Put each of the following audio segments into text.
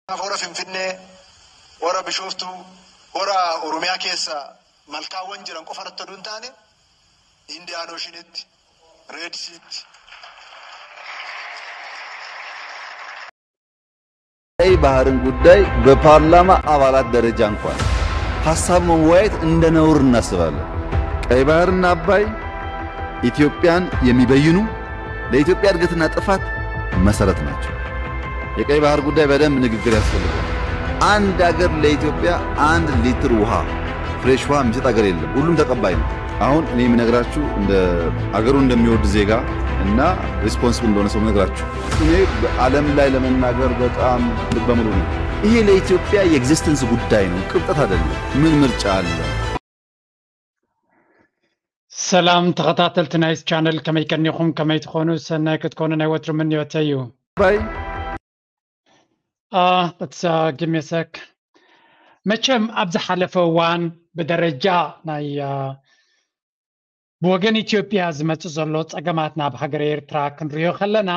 Kanaaf hora Finfinnee, hora Bishooftuu, hora Oromiyaa keessa malkaawwan jiran qofa irratti oduu hin taane, Indian Oceanitti, Red Seatti, ቀይ ባህርን ጉዳይ በፓርላማ አባላት ደረጃ እንኳን ሀሳብ መወያየት እንደ ነውር እናስባለን። ቀይ ባህርና አባይ ኢትዮጵያን የሚበይኑ ለኢትዮጵያ እድገትና ጥፋት መሰረት ናቸው። የቀይ ባህር ጉዳይ በደንብ ንግግር ያስፈልጋል። አንድ አገር ለኢትዮጵያ አንድ ሊትር ውሃ ፍሬሽ ውሃ የሚሰጥ አገር የለም። ሁሉም ተቀባይ ነው። አሁን እኔ የምነግራችሁ እንደ አገሩ እንደሚወድ ዜጋ እና ሪስፖንስብል እንደሆነ ሰው ነግራችሁ እኔ በዓለም ላይ ለመናገር በጣም ልበ ሙሉ ነው። ይሄ ለኢትዮጵያ የኤግዚስተንስ ጉዳይ ነው፣ ቅብጠት አይደለም። ምን ምርጫ አለ? ሰላም ተኸታተልቲ ናይ ቻነል፣ ከመይ ቀኒኹም? ከመይ ትኾኑ? ሰናይ ክትኮኑ ናይ ወትሩ ምንዮተይ እዩ። ባይ አ፣ it's, uh, give me a sec. መቸም ኣብ ዝሓለፈ እዋን ብደረጃ ናይ፣ አ፣ ብወገን ኢትዮጵያ ዝመጽእ ዘሎ ጸገማት ናብ ሃገር ኤርትራ ክንሪኦ ከለና፣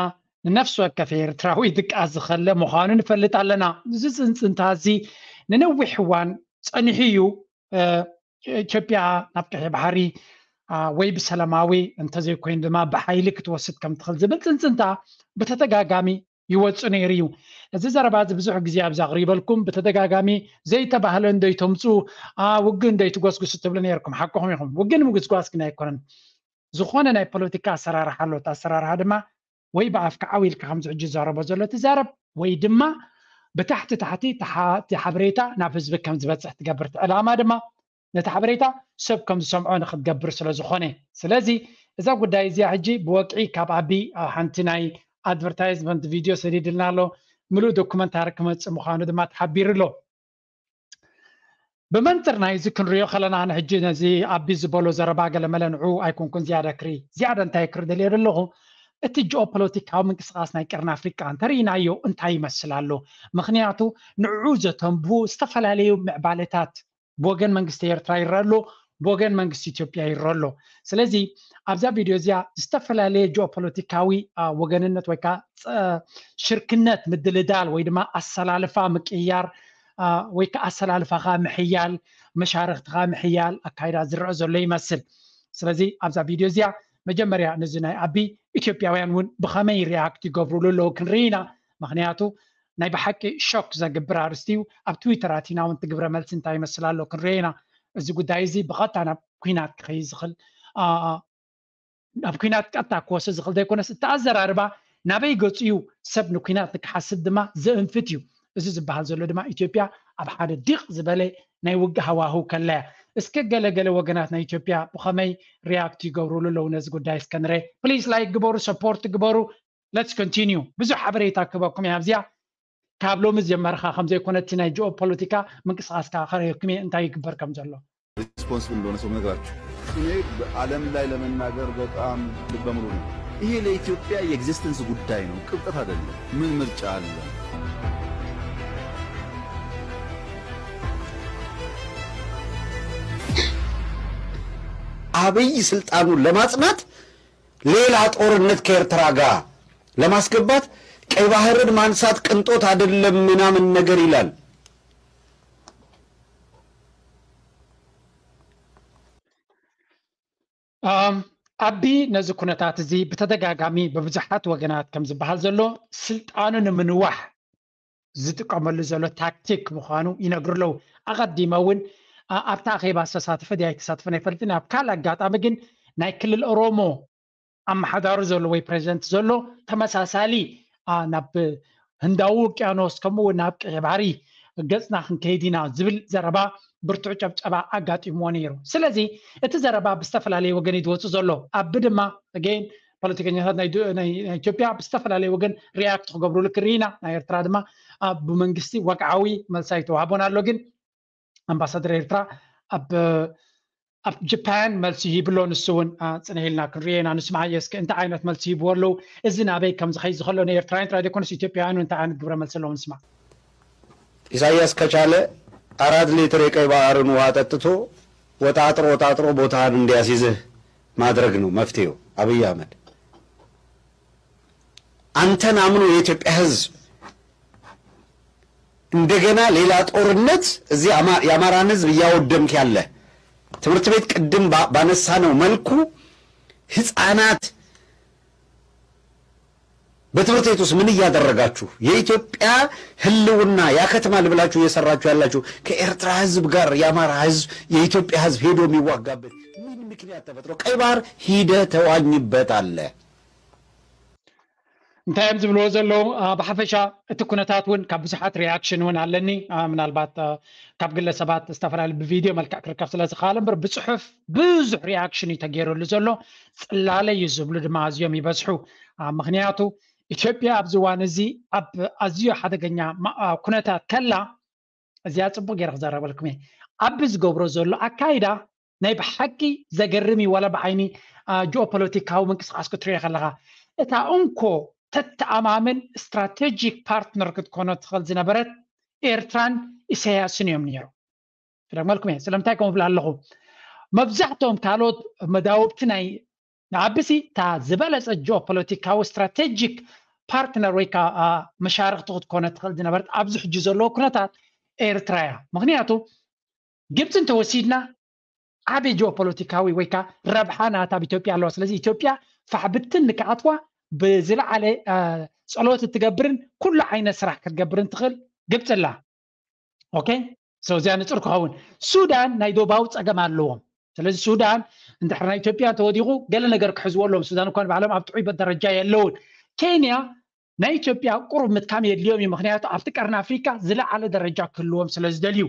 ንነፍሲ ወከፍ ኤርትራዊ ድቃስ ዝኸለ ምዃኑ ንፈልጥ ኣለና። እዚ ጽንጽንታ እዚ ንነዊሕ እዋን ጸኒሑ እዩ። እ፣ ኢትዮጵያ ናብ ቀይሕ ባሕሪ፣ አ፣ ወይ ብሰላማዊ እንተዘይኮይኑ ድማ ብሓይሊ ክትወስድ ከም ትኽእል ዝብል ጽንጽንታ ብተደጋጋሚ ይወጽእ ነይሩ እዩ። እዚ ዘረባ እዚ ብዙሕ ግዜ ኣብዚ ኣቕሪበልኩም፣ ብተደጋጋሚ ዘይተባህለ እንዶ ይተምጽኡ፣ አ፣ ውግእ እንዶ ይትጎስጉሱ ትብሉ ነይርኩም። ሓቅኹም ኢኹም። ውግእ ንምጉስጓስ ግን ኣይኮነን። ዝኾነ ናይ ፖለቲካ ኣሰራርሓ ኣሎ። እቲ ኣሰራርሓ ድማ ወይ ብኣፍካ ዓው ኢልካ ከምዚ ሕጂ ዝዛረቦ ዘሎ ትዛረብ፣ ወይ ድማ ብታሕቲ ታሕቲ እቲ ሓ-፣ እቲ ሓበሬታ ናብ ህዝቢ ከም ዝበጽሕ ትገብር። እቲ ዕላማ ድማ ነቲ ሓበሬታ ሰብ ከም ዝሰምዖ ንክትገብር ስለ ዝኾነ። ስለዚ እዛ ጉዳይ እዚኣ ሕጂ ብወግዒ ካብ ኣቢ፣ አ፣ ሓንቲ ናይ ኣድቨርታይዝመንት ቪድዮ ሰዲድልና ኣሎ። ምሉእ ዶኩመንታሪ ክመጽእ ምዃኑ ድማ ተሓቢሩ ኣሎ። ብመንጽር ናይዚ ክንሪኦ ከለና፣ ንሕጂ ነዚ ኣቢ ዝበሎ ዘረባ ገለመለ ንዑ ኣይኮንኩን ዝያዳ ክሪ-፣ ዝያዳ እንታይ ክሪ ደልዮ ዘለኹ፣ እቲ ጂኦፖለቲካዊ ምንቅስቓስ ናይ ቀርኒ ኣፍሪቃ እንተርኢናዮ እንታይ ይመስል ኣሎ? ምኽንያቱ ንዕኡ ዘተንብሁ ዝተፈላለዩ ምዕባለታት ብወገን መንግስቲ ኤርትራ ይረአ ኣሎ፣ ብወገን መንግስቲ ኢትዮጵያ ይረአ ኣሎ። ስለዚ ኣብዛ ቪድዮ እዚኣ ዝተፈላለየ ጂኦፖለቲካዊ፣ አ፣ ወገንነት ወይ ከዓ ጸ-፣ ሽርክነት ምድልዳል ወይ ድማ ኣሰላልፋ ምቅያር፣ አ፣ ወይ ከዓ ኣሰላልፋኻ ምሕያል፣ መሻርኽትኻ ምሕያል ኣካይዳ ዝረአ ዘሎ ይመስል። ስለዚ ኣብዛ ቪድዮ እዚኣ መጀመርያ ነዚ ናይ ኣቢ ኢትዮጵያውያን እውን ብኸመይ ሪያክት ይገብሩሉ ኣለዉ ክንርኢ ኢና። ምኽንያቱ ናይ ብሓቂ ሾክ ዘግብር ኣርእስቲ እዩ። ኣብ ትዊተር ኣቲና እውን እቲ ግብረ መልሲ እንታይ ይመስል ኣሎ ክንርኢ ኢና። እዚ ጉዳይ እዚ ብቐጥታ ናብ ኲናት ክኸይድ ዝኽእል፣ አ፣ ናብ ኲናት ቀጥታ ክወስድ ዝኽእል ዘይኮነስ፣ እቲ ኣዘራርባ ናበይ ገጹ እዩ፣ ሰብ ንኲናት ንክሓስብ ድማ ዘእንፍት እዩ። እዚ ዝበሃል ዘሎ ድማ ኢትዮጵያ ኣብ ሓደ ዲቕ ዝበለ ናይ ውግእ ሃዋህው ከላ እያ። እስከ ገለ ገለ ወገናት ናይ ኢትዮጵያ ብኸመይ ሪያክት ይገብሩሉ ኣለዉ ነዚ ጉዳይ እስከ ንረ። ፕሊዝ ላይክ ግበሩ፣ ሰፖርት ግበሩ። ለትስ ኮንቲኒዩ። ብዙሕ ሓበሬታ ክህበኩም እየ ኣብዚኣ። ካብ ሎሚ ዝጀመርካ ከም ዘይኮነ እቲ ናይ ጂኦ ፖለቲካ ምንቅስቃስካ ከርእየኩም እየ እንታይ ይግበር ከም ዘሎ። ሪስፖንስብል እንደሆነ ሰው ነግራችሁ እኔ በዓለም ላይ ለመናገር በጣም ልበ ሙሉ ነው። ይሄ ለኢትዮጵያ የኤግዚስተንስ ጉዳይ ነው፣ ቅብጠት አይደለም። ምን ምርጫ አለ? አብይ ስልጣኑን ለማጽናት ሌላ ጦርነት ከኤርትራ ጋር ለማስገባት ቀይ ባህርን ማንሳት ቅንጦት አይደለም ምናምን ነገር ይላል። ኣም፣ ኣቢ ነዚ ኩነታት እዚ ብተደጋጋሚ ብብዙሓት ወገናት ከም ዝበሃል ዘሎ ስልጣኑ ንምንዋሕ ዝጥቀመሉ ዘሎ ታክቲክ ምዃኑ ይነግሩ ኣለዉ። ኣቐዲመ እውን፣ ኣ-፣ ኣብታ ኣኼባ ዝተሳተፈ ድየ ኣይተሳተፈን ኣይፈልጥን። ኣብ ካልእ ኣጋጣሚ ግን ናይ ክልል ኦሮሞ ኣመሓዳሪ ዘሎ ወይ ፕሬዚደንት ዘሎ ተመሳሳሊ፣ ኣ፣ ናብ ህንዳዊ ውቅያኖስ ከምኡ እውን ናብ ቀይሕ ባሕሪ ገጽና ክንከይድ ኢና ዝብል ዘረባ ብርቱዕ ጨብጨባ ኣጋጢምዎ ነይሩ። ስለዚ እቲ ዘረባ ብዝተፈላለየ ወገን እዩ ዝወጽእ ዘሎ። ኣቢ ድማ ኣገይን ፖለቲከኛታት ናይ ዱ-፣ ናይ፣ ናይ ኢትዮጵያ ብዝተፈላለየ ወገን ሪያክት ክገብሩሉ ክርኢ ኢና። ናይ ኤርትራ ድማ ኣብ መንግስቲ ወግዓዊ መልሲ ኣይተዋህቦን ኣሎ። ግን ኣምባሳደር ኤርትራ ኣብ፣ ኣብ ጃፓን መልሲ ሂብሎ። ንሱ እውን፣ ኣ፣ ጽንሕ ኢልና ክንሪኦ ኢና። ንስማዓዮ እስከ እንታይ ዓይነት መልሲ ሂብዎ ኣለዉ? እዚ ናበይ ከም ዝኸይድ ዝኸሎ ንኤርትራውያን ጥራይ ዘይኮነስ ኢትዮጵያውያን እውን እንታይ ዓይነት ግብረ መልሲ ኣለዎም ንስማዕ። ኢሳያስ ከቻለ አራት ሊትር የቀይ ባህርን ውሃ ጠጥቶ ወጣጥሮ ወጣጥሮ ቦታህን እንዲያስይዝህ ማድረግ ነው መፍትሄው። አብይ አህመድ አንተን አምኖ የኢትዮጵያ ህዝብ እንደገና ሌላ ጦርነት እዚህ የአማራን ህዝብ እያወደምክ ያለ ትምህርት ቤት ቅድም ባነሳነው መልኩ ህፃናት በትምህርት ቤት ውስጥ ምን እያደረጋችሁ የኢትዮጵያ ህልውና ያከትማል ብላችሁ እየሰራችሁ ያላችሁ ከኤርትራ ህዝብ ጋር የአማራ ህዝብ የኢትዮጵያ ህዝብ ሄዶ የሚዋጋበት ምን ምክንያት ተፈጥሮ? ቀይ ባህር ሂደ ተዋኝበት አለ። እንታይ እዮም ዝብልዎ ዘለዉ? ብሓፈሻ እቲ ኩነታት እውን ካብ ብዙሓት ሪያክሽን እውን ኣለኒ። ምናልባት ካብ ግለሰባት ዝተፈላለዩ ብቪድዮ መልክዕ ክርከብ ስለ ዝኽኣል እምበር ብፅሑፍ ብዙሕ ሪያክሽን እዩ ተገይሩሉ ዘሎ። ፅላለ እዩ ዝብሉ ድማ ኣዝዮም ይበዝሑ። ምክንያቱ ኢትዮጵያ ኣብዚ እዋን እዚ ኣብ ኣዝዮ ሓደገኛ ኩነታት ከላ እዚኣ ፅቡቅ ገይረ ክዘረበልኩም እየ። ኣብ ዝገብሮ ዘሎ ኣካይዳ ናይ ብሓቂ ዘገርም እዩ። ዋላ ብዓይኒ ጂኦፖለቲካዊ ምንቅስቃስ ክትሪኦ ከለካ እታ እንኮ ተተኣማምን ስትራቴጂክ ፓርትነር ክትኮኖ ትኽእል ዝነበረት ኤርትራን ኢሳያስን እዮም ነይሩ። ክደግመልኩም እየ ስለምንታይ ከምኡ ብላ ኣለኹ። መብዛሕትኦም ካልኦት መዳውብቲ ናይ ንዓብሲ እታ ዝበለፀ ጂኦፖለቲካዊ ስትራቴጂክ ፓርትነር ወይ ከዓ መሻርክቲ ክትኮነ ትኽእል ዝነበረት ኣብዚ ሕጂ ዘለዎ ኩነታት ኤርትራ እያ። ምክንያቱ ግብፂ እንተወሲድና ዓበይ ጂኦፖለቲካዊ ወይ ከዓ ረብሓ ናታ ኣብ ኢትዮጵያ ኣለዋ። ስለዚ ኢትዮጵያ ፋሕ ብትን ንክኣትዋ ብዝለዓለ ፀሎት እትገብርን ኩሉ ዓይነት ስራሕ ክትገብርን ትኽእል ግብፂ ኣላ። ኦኬ እዚኣ ንፅር ክኸውን ሱዳን ናይ ዶባዊ ፀገም ኣለዎም። ስለዚ ሱዳን እንድሕር ናይ ኢትዮጵያ እንተወዲቑ ገለ ነገር ክሕዝዎ ኣለዎም። ሱዳን እኳ ንባዕሎም ኣብ ጥዑይ ደረጃ የለውን። ኬንያ ናይ ኢትዮጵያ ቁሩብ ምጥቃም የድልዮም እዩ። ምክንያቱ ኣብቲ ቀርኒ ኣፍሪካ ዝለዓለ ደረጃ ክህልዎም ስለ ዝደልዩ።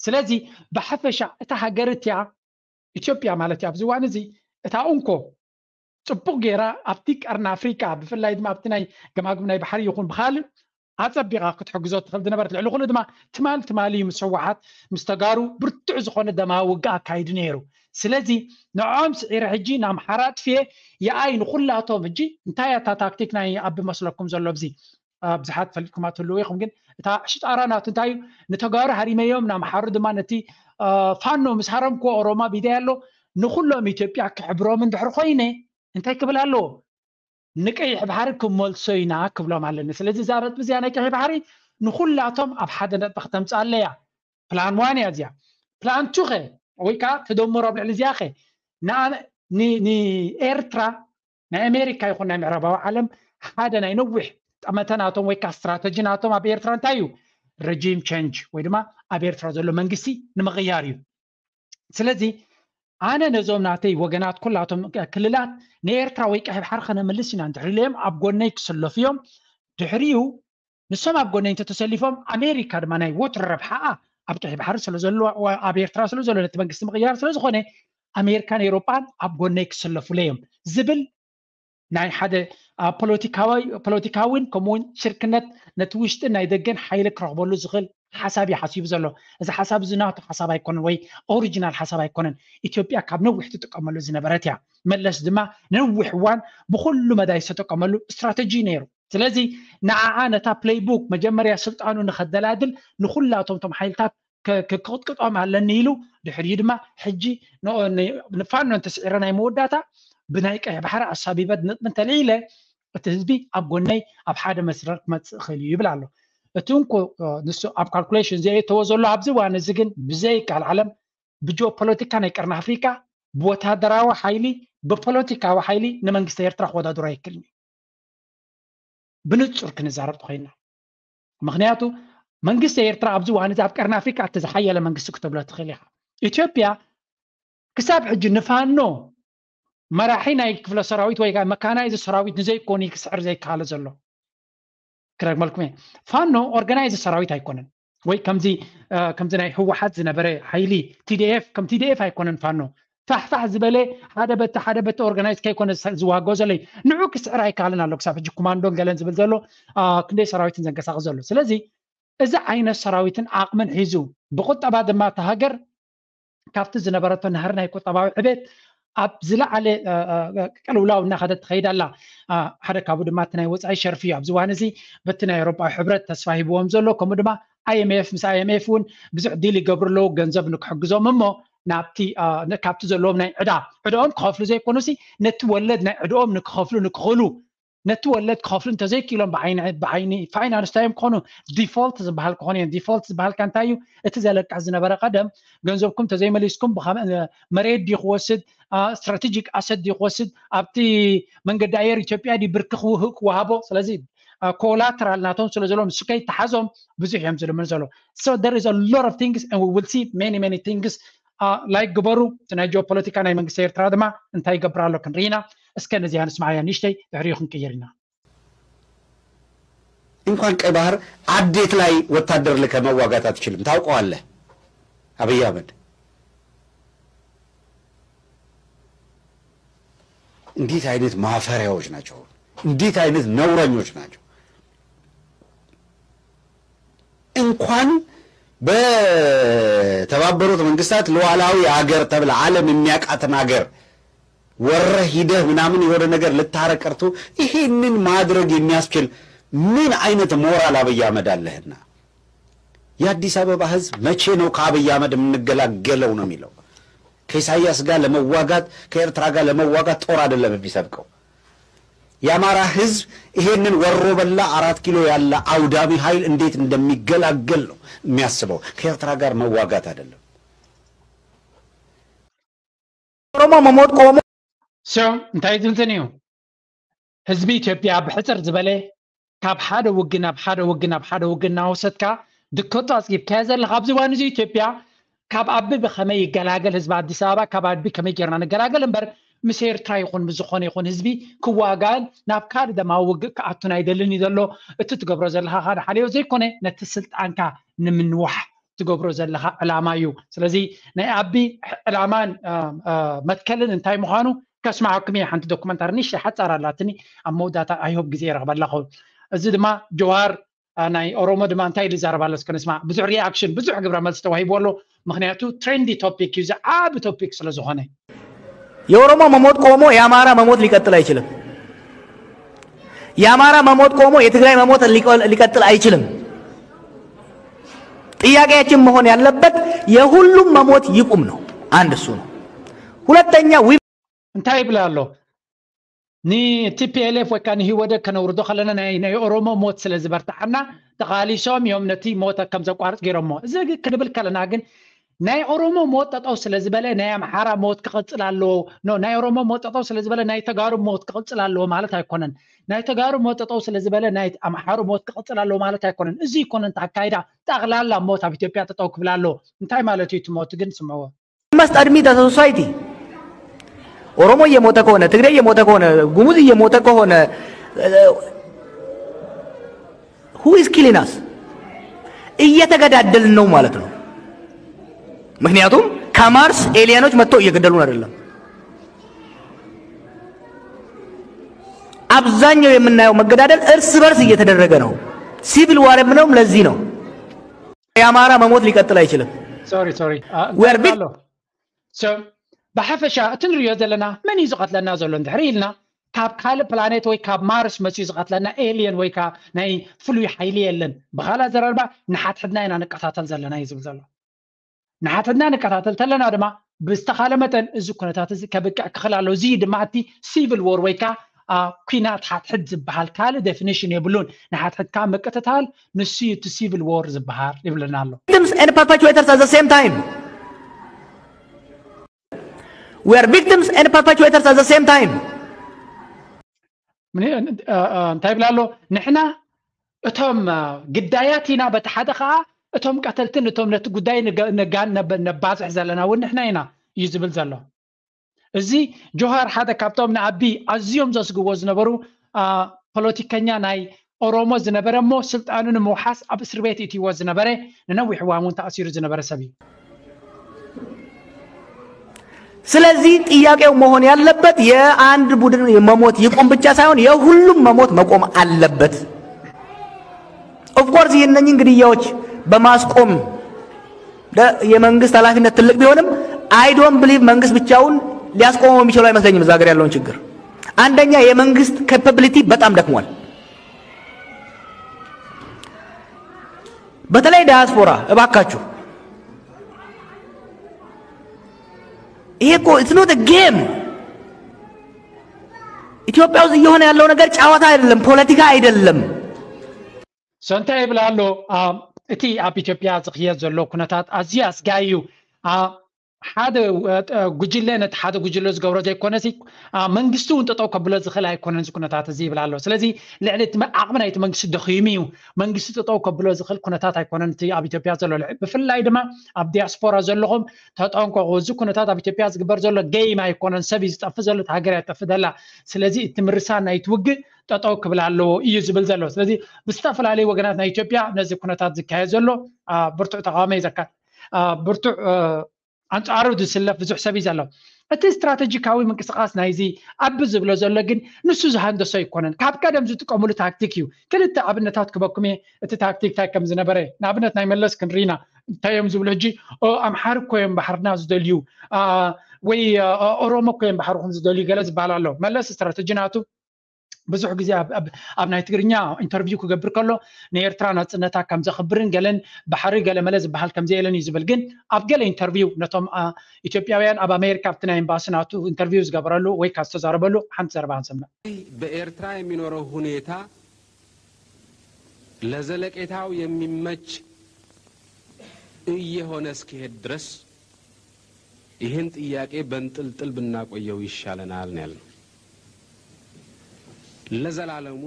ስለዚ ብሓፈሻ እታ ሃገር እቲያ ኢትዮጵያ ማለት እዩ ኣብዚ እዋን እዚ እታ እንኮ ፅቡቅ ገይራ ኣብቲ ቀርኒ ኣፍሪካ ብፍላይ ድማ ኣብቲ ናይ ገማግም ናይ ባሕሪ ይኹን ብካልእ ኣፀቢቃ ክትሕግዞ ትኽእል ዝነበረት። ልዕሊ ኩሉ ድማ ትማል ትማሊ ምስ ህወሓት ምስ ተጋሩ ብርቱዕ ዝኾነ ደማዊ ውግእ ኣካይዱ ነይሩ። ስለዚ ንዕኦም ስዒረ ሕጂ ንኣምሓራ ኣጥፍየ የኣይ ንኩላቶም ሕጂ እንታይ እያ እታ ታክቲክ ናይ ኣቢ መስለኩም ዘሎ ኣብዚ ብዙሓት ፈልጥኩማ ትህልዉ ኢኹም። ግን እታ ሽጣራ ናቱ እንታይ እዩ? ንተጋሩ ሃሪመዮም ንኣምሓሩ ድማ ነቲ ፋኖ ምስ ሃረምክዎ ኦሮማ ቢዳይ ኣሎ ንኩሎም ኢትዮጵያ ክሕብሮም እንድሕር ኮይነ እንታይ ክብል ኣለዎ? ንቀይሕ ባሕሪ ክመልሶ ኢና ክብሎም ኣለኒ። ስለዚ እዛ ነጥቢ እዚኣ ናይ ቀይሕ ባሕሪ ንኩላቶም ኣብ ሓደ ነጥቢ ክተምፅእ ኣለያ። ፕላን ዋን እያ እዚኣ። ፕላን ቱ ኸ ወይ ከዓ ተደምሮ ኣብ ልዕሊ እዚኣ ኸ ንኤርትራ ናይ ኣሜሪካ ይኹን ናይ ምዕራባዊ ዓለም ሓደ ናይ ነዊሕ ጠመተ ናቶም ወይ ከዓ ስትራተጂ ናቶም ኣብ ኤርትራ እንታይ እዩ? ረጂም ቸንጅ ወይ ድማ ኣብ ኤርትራ ዘሎ መንግስቲ ንምቕያር እዩ። ስለዚ ኣነ ነዞም ናተይ ወገናት ኩላቶም ክልላት ንኤርትራ ወይ ቀይሕ ባሕሪ ከነምልስ ኢና እንድሕር ኢለዮም ኣብ ጎነይ ክስለፉ እዮም። ድሕሪኡ ንሶም ኣብ ጎነይ እንተተሰሊፎም ኣሜሪካ ድማ ናይ ወትሩ ረብሓኣ ኣብ ቀይሕ ባሕሪ ስለዘሎ ኣብ ኤርትራ ስለዘሎ ነቲ መንግስቲ ምቕያር ስለዝኾነ ኣሜሪካን ኤሮጳን ኣብ ጎነይ ክስለፉለ እዮም ዝብል ናይ ሓደ ፖለቲካዊን ከምኡውን ሽርክነት ነቲ ውሽጥን ናይ ደገን ሓይሊ ክረኽበሉ ዝኽእል ሓሳብ እዩ ሓሲቡ ዘሎ። እዚ ሓሳብ እዚ ናቱ ሓሳብ ኣይኮነን ወይ ኦሪጂናል ሓሳብ ኣይኮነን። ኢትዮጵያ ካብ ነዊሕ ትጥቀመሉ ዝነበረት እያ። መለስ ድማ ነዊሕ እዋን ብኩሉ መዳይ ዝተጠቀመሉ ስትራተጂ ነይሩ። ስለዚ ንዓኣ ነታ ፕለይቡክ መጀመርያ ስልጣኑ ንኸደላድል ንኩላቶም ቶም ሓይልታት ክቅጥቅጦም ኣለኒ ኢሉ ድሕሪኡ ድማ ሕጂ ንፋኖ እንተስዒረ ናይ መወዳእታ ብናይ ቀይሕ ባሕሪ ኣሳቢበ ነጥቢ እንተልዒለ እቲ ህዝቢ ኣብ ጎነይ ኣብ ሓደ መስመር ክመፅእ ይኽእል እዩ ይብል ኣሎ። እቲ እንኮ ንሱ ኣብ ካልኩሌሽን ዘየእተዎ ዘሎ ኣብዚ እዋን እዚ ግን ብዘይካል ዓለም ብጂኦፖለቲካ ናይ ቀርኒ ኣፍሪካ ብወታደራዊ ሓይሊ ብፖለቲካዊ ሓይሊ ንመንግስቲ ኤርትራ ክወዳድሮ ኣይክእልን እዩ። ብንፁር ክንዛረብ ተኮይንና ምክንያቱ መንግስቲ ኤርትራ ኣብዚ እዋን እዚ ኣብ ቀርኒ ኣፍሪካ እቲ ዝሓየለ መንግስቲ ክትብሎ ትኽእል ኢኻ። ኢትዮጵያ ክሳብ ሕጂ ንፋኖ መራሒ ናይ ክፍለ ሰራዊት ወይ መካናይዝ ሰራዊት ንዘይኮኑ ክስዕር ዘይከኣለ ዘሎ ክረግመልኩም እየ። ፋኖ ኦርጋናይዝ ሰራዊት ኣይኮነን ወይ ከምዚ ከምዚ ናይ ህወሓት ዝነበረ ሓይሊ ቲዲኤፍ ከም ቲዲኤፍ ኣይኮነን ፋኖ ፋሕፋሕ ዝበለ ሓደ በቲ ሓደ በቲ ኦርጋናይዝ ከይኮነ ዝዋገኦ ዘሎ ንዑ ክስዕር ኣይከኣልን ኣሎ ክሳብ ሕጂ ኮማንዶን ገለን ዝብል ዘሎ ክንደይ ሰራዊትን ዘንቀሳቅስ ዘሎ ስለዚ እዚ ዓይነት ሰራዊትን ዓቕምን ሒዙ ብቁጠባ ድማ እታ ሃገር ካብቲ ዝነበረቶ ናህሪ ናይ ቁጠባዊ ዕቤት ኣብ ዝለዓለ ቅልውላው እናኸደት ትኸይድ ኣላ። ሓደ ካብኡ ድማ እቲ ናይ ወፃኢ ሸርፊ እዩ። ኣብዚ እዋን እዚ በቲ ናይ ኤውሮጳዊ ሕብረት ተስፋ ሂብዎም ዘሎ ከምኡ ድማ ኣይኤምኤፍ ምስ ኣይኤምኤፍ እውን ብዙሕ ዲል ይገብሩ ኣለዉ ገንዘብ ንክሕግዞም እሞ ናብቲ ካብቲ ዘለዎም ናይ ዕዳ ዕዳኦም ክኸፍሉ ዘይኮኑሲ ነቲ ወለድ ናይ ዕዳኦም ንክኸፍሉ ንክኽእሉ ነቲ ወለድ ክኸፍሉ እንተዘይክኢሎም ብዓይኒ ብዓይኒ ፋይናንስ እንታይ እዮም ክኾኑ? ዲፎልት ዝበሃል ክኾኑ እዮም። ዲፎልት ዝበሃል ከ እንታይ እዩ? እቲ ዘለቅሕ ዝነበረ ቀደም ገንዘብኩም ተዘይመሊስኩም ብኸመ- መሬት ድዩ ክወስድ፣ ስትራቴጂክ ኣሰት ድዩ ክወስድ፣ ኣብቲ መንገዲ ኣየር ኢትዮጵያ ድዩ ብርኪ ክውህ- ክወሃቦ። ስለዚ ኮላትራል ናቶም ስለ ዘለዎም ንሱ ከይተሓዞም ብዙሕ እዮም ዝልምኑ ዘለዉ። So there is a lot of things and we will see many many things. ላይክ ግበሩ። እቲ ናይ ጂኦፖለቲካ ናይ መንግስቲ ኤርትራ ድማ እንታይ ይገብር ኣሎ ክንርኢ ኢና። እስከ ነዚኣ ንስማዓያ ንእሽተይ፣ ድሕሪኡ ክንቅይር ኢና። እንኳን ቀይ ባህር አዴት ላይ ወታደር ልከ መዋጋት አትችልም። ታውቀዋለህ አብይ አህመድ። እንዴት አይነት ማፈሪያዎች ናቸው! እንዴት አይነት ነውረኞች ናቸው! እንኳን በተባበሩት መንግስታት ሉዓላዊ ሀገር ተብላ ዓለም የሚያውቃትን ሀገር ወረህ ሂደህ ምናምን የሆነ ነገር ልታረቅ ቀርቶ ይሄንን ማድረግ የሚያስችል ምን አይነት ሞራል አብይ አህመድ አለህና? የአዲስ አበባ ህዝብ መቼ ነው ከአብይ አህመድ የምንገላገለው ነው የሚለው። ከኢሳያስ ጋር ለመዋጋት ከኤርትራ ጋር ለመዋጋት ጦር አይደለም የሚሰብቀው። የአማራ ህዝብ ይሄንን ወሮ በላ አራት ኪሎ ያለ አውዳሚ ኃይል እንዴት እንደሚገላገል ነው የሚያስበው። ከኤርትራ ጋር መዋጋት አይደለም። ኦሮሞ መሞት ቆሞ So እንታይ ዝብል እዩ? ህዝቢ ኢትዮጵያ ብሕፅር ዝበለ ካብ ሓደ ውግእ ናብ ሓደ ውግእ ናብ ሓደ ውግእ እናወሰድካ ድከቶ ኣፅጊብካዮ ዘለኻ ኣብዚ እዋን እዚ ኢትዮጵያ ካብ ኣቢ ብኸመይ ይገላገል ህዝቢ ኣዲስ ኣበባ ካብ ኣቢ ከመይ ጌርና ንገላገል እምበር ምስ ኤርትራ ይኹን ምስ ዝኾነ ይኹን ህዝቢ ክዋጋእን ናብ ካልእ ደማዊ ውግእ ክኣቱን ኣይደልን እዩ ዘሎ። እቲ ትገብሮ ዘለኻ ካደ ሓልዮ ዘይኮነ ነቲ ስልጣንካ ንምንዋሕ ትገብሮ ዘለኻ ዕላማ እዩ። ስለዚ ናይ ኣቢ ዕላማን መትከልን እንታይ ምዃኑ ከስማዓኩም እየ። ሓንቲ ዶኩመንታሪ ንእሽተይ ሓጻር ኣላትኒ ኣብ መወዳእታ ኣይሆብ ግዜ ይረኽበላ ኸውን። እዚ ድማ ጀዋር ናይ ኦሮሞ ድማ እንታይ ኢሉ ይዛረብ ኣሎ እስከ ንስማዕ። ብዙሕ ሪኣክሽን ብዙሕ ግብረ መልሲ ተዋሂቡ ኣሎ። ምክንያቱ ትሬንዲ ቶፒክ እዩ፣ ዝዓቢ ቶፒክ ስለ ዝኾነ። የኦሮሞ መሞት ቆሞ የአማራ መሞት ሊቀጥል አይችልም። የአማራ መሞት ቆሞ የትግራይ መሞት ሊቀጥል አይችልም። ጥያቄያችን መሆን ያለበት የሁሉም መሞት ይቁም ነው። አንድ እሱ ነው። ሁለተኛ እንታይ ይብል ኣሎ? ን ቲ ፒ ኤል ኤፍ ወይ ከዓ ንህወደግ ከነውርዶ ከለና ናይ ናይ ኦሮሞ ሞት ስለ ዝበርትዓና ተቓሊሶም እዮም ነቲ ሞት ከም ዘቋርጽ ገይሮሞ። እዚ ክንብል ከለና ግን ናይ ኦሮሞ ሞት ጠጠው ስለ ዝበለ ናይ ኣምሓራ ሞት ክቕጽል ኣለዎ፣ no፣ ናይ ኦሮሞ ሞት ጠጠው ስለ ዝበለ ናይ ተጋሩ ሞት ክቕጽል ኣለዎ ማለት ኣይኮነን። ናይ ተጋሩ ሞት ጠጠው ስለ ዝበለ ናይ ኣምሓሩ ሞት ክቕጽል ኣለዎ ማለት ኣይኮነን። እዚ ኣይኮነን እቲ ኣካይዳ። ጠቕላላ ሞት ኣብ ኢትዮጵያ ጠጠው ክብል ኣለዎ። እንታይ ማለት እዩ እቲ ሞት ግን ስምዕዎ። must admit as a society ኦሮሞ እየሞተ ከሆነ፣ ትግሬ እየሞተ ከሆነ፣ ጉሙዝ እየሞተ ከሆነ who is killing us? እየተገዳደልን ነው ማለት ነው። ምክንያቱም ከማርስ ኤሊያኖች መጥተው እየገደሉን አይደለም። አብዛኛው የምናየው መገዳደል እርስ በርስ እየተደረገ ነው። ሲቪል ዋር የምንለውም ለዚህ ነው። የአማራ መሞት ሊቀጥል አይችልም። ሶሪ ሶሪ We are big- ብሓፈሻ እቲ ንሪኦ ዘለና መን እዩ ዝቐትለና ዘሎ እንድሕር ኢልና ካብ ካልእ ፕላኔት ወይ ካብ ማርስ መፅኡ ዝቐትለና ኤልየን ወይ ከዓ ናይ ፍሉይ ሓይሊ የለን። ብኻልእ ኣዘራርባ ንሓድሕድና ኢና ንቀታተል ዘለና እዩ ዝብል ዘሎ። ንሓድሕድና ንቀታተል ተለና ድማ ብዝተኻለ መጠን እዚ ኩነታት እዚ ከብቅዕ ክኽል ኣለዎ። እዚ ድማ እቲ ሲቪል ዎር ወይ ከዓ አ፣ ኲናት ሓድሕድ ዝበሃል ካልእ ዴፊኒሽን የብሉን። ንሓድሕድካ ምቅትታል ንሱ እዩ እቲ ሲቪል ዎር ዝበሃል ይብለና ኣሎ። victims and perpetrators at the same time. We are victims and perpetrators at the same time. እንታይ ይብል ኣሎ? ንሕና እቶም ግዳያት ኢና፣ በቲ ሓደ ከዓ እቶም ቀተልትን እቶም ነቲ ጉዳይ ነባዝሕ ዘለና እውን ንሕና ኢና እዩ ዝብል ዘሎ። እዚ ጆሃር ሓደ ካብቶም ንኣቢ ኣዝዮም ዘስግዎ ዝነበሩ ፖለቲከኛ ናይ ኦሮሞ ዝነበረ እሞ ስልጣኑ ንምውሓስ ኣብ እስር ቤት እትይዎ ዝነበረ ንነዊሕ እዋን እውን ተኣሲሩ ዝነበረ ሰብ እዩ። ስለዚህ ጥያቄው መሆን ያለበት የአንድ ቡድን መሞት ይቁም ብቻ ሳይሆን የሁሉም መሞት መቆም አለበት። Of course ይህነኝን ግድያዎች በማስቆም የመንግስት ኃላፊነት ትልቅ ቢሆንም I don't believe መንግስት ብቻውን ሊያስቆመው የሚችለው አይመስለኝም። እዛ ሀገር ያለውን ችግር አንደኛ የመንግስት capability በጣም ደክሟል። በተለይ ዳያስፖራ እባካችሁ ይሄ እኮ it's not a game። ኢትዮጵያ ውስጥ እየሆነ ያለው ነገር ጨዋታ አይደለም፣ ፖለቲካ አይደለም። ሰንታ ይብል ኣሎ። እቲ ኣብ ኢትዮጵያ ዝኽየድ ዘሎ ኩነታት ኣዝዩ ኣስጋይ እዩ። ሓደ ጉጅለ ነቲ ሓደ ጉጅለ ዝገብሮ ዘይኮነሲ መንግስቲ እውን ጠጠው ከብሎ ዝኽእል ኣይኮነን እዚ ኩነታት እዚ ይብል ኣሎ። ስለዚ ልዕሊ ዓቕሚ ናይቲ መንግስቲ ደኺሙ እዩ። መንግስቲ ጠጠው ከብሎ ዝኽእል ኩነታት ኣይኮነን እቲ ኣብ ኢትዮጵያ ዘሎ። ብፍላይ ድማ ኣብ ዲያስፖራ ዘለኹም ተጠንቀቑ። እዚ ኩነታት ኣብ ኢትዮጵያ ዝግበር ዘሎ ገይም ኣይኮነን። ሰብ እዩ ዝጠፍእ ዘሎ፣ ሃገር እያ ትጠፍእ ዘላ። ስለዚ እቲ ምርሳን ናይቲ ውግእ ጠጠው ክብል ኣለዎ እዩ ዝብል ዘሎ። ስለዚ ብዝተፈላለዩ ወገናት ናይ ኢትዮጵያ ነዚ ኩነታት ዝካየድ ዘሎ ብርቱዕ ተቃውሞ እዩ ዘካ ብርቱዕ ኣንጻሩ ዝስለፍ ብዙሕ ሰብ እዩ ዘሎ። እቲ ስትራተጂካዊ ምንቅስቃስ ናይዚ ኣብ ዝብሎ ዘሎ ግን ንሱ ዝሃንደሶ ኣይኮነን። ካብ ቀደም ዝጥቀምሉ ታክቲክ እዩ። ክልተ ኣብነታት ክበኩም እየ። እቲ ታክቲክ እንታይ ከም ዝነበረ ንኣብነት ናይ መለስ ክንርኢና እንታይ እዮም ዝብሉ ሕጂ ኣምሓር እኮ እዮም ባሕርና ዝደልዩ ወይ ኦሮሞ እኮ እዮም ባሕርኹም ዝደልዩ ገለ ዝበሃል ኣሎ። መለስ ስትራተጂ ናቱ ብዙሕ ግዜ ኣብ ናይ ትግርኛ ኢንተርቪው ክገብር ከሎ ንኤርትራ ናጽነታ ከም ዘኽብርን ገለን ባሕሪ ገለ መለ ዝበሃል ከም ዘየለን እዩ ዝብል። ግን ኣብ ገለ ኢንተርቪው ነቶም ኢትዮጵያውያን ኣብ ኣሜሪካ ኣብቲ ናይ ኤምባሲ ናቱ ኢንተርቪው ዝገበረሉ ወይ ካብ ዝተዛረበሉ ሓንቲ ዘረባ ክንሰምዕ። በኤርትራ የሚኖረው ሁኔታ ለዘለቄታው የሚመች እየሆነ እስኪሄድ ድረስ ይህን ጥያቄ በንጥልጥል ብናቆየው ይሻለናል ነው ያልነው። ለዘላለሙ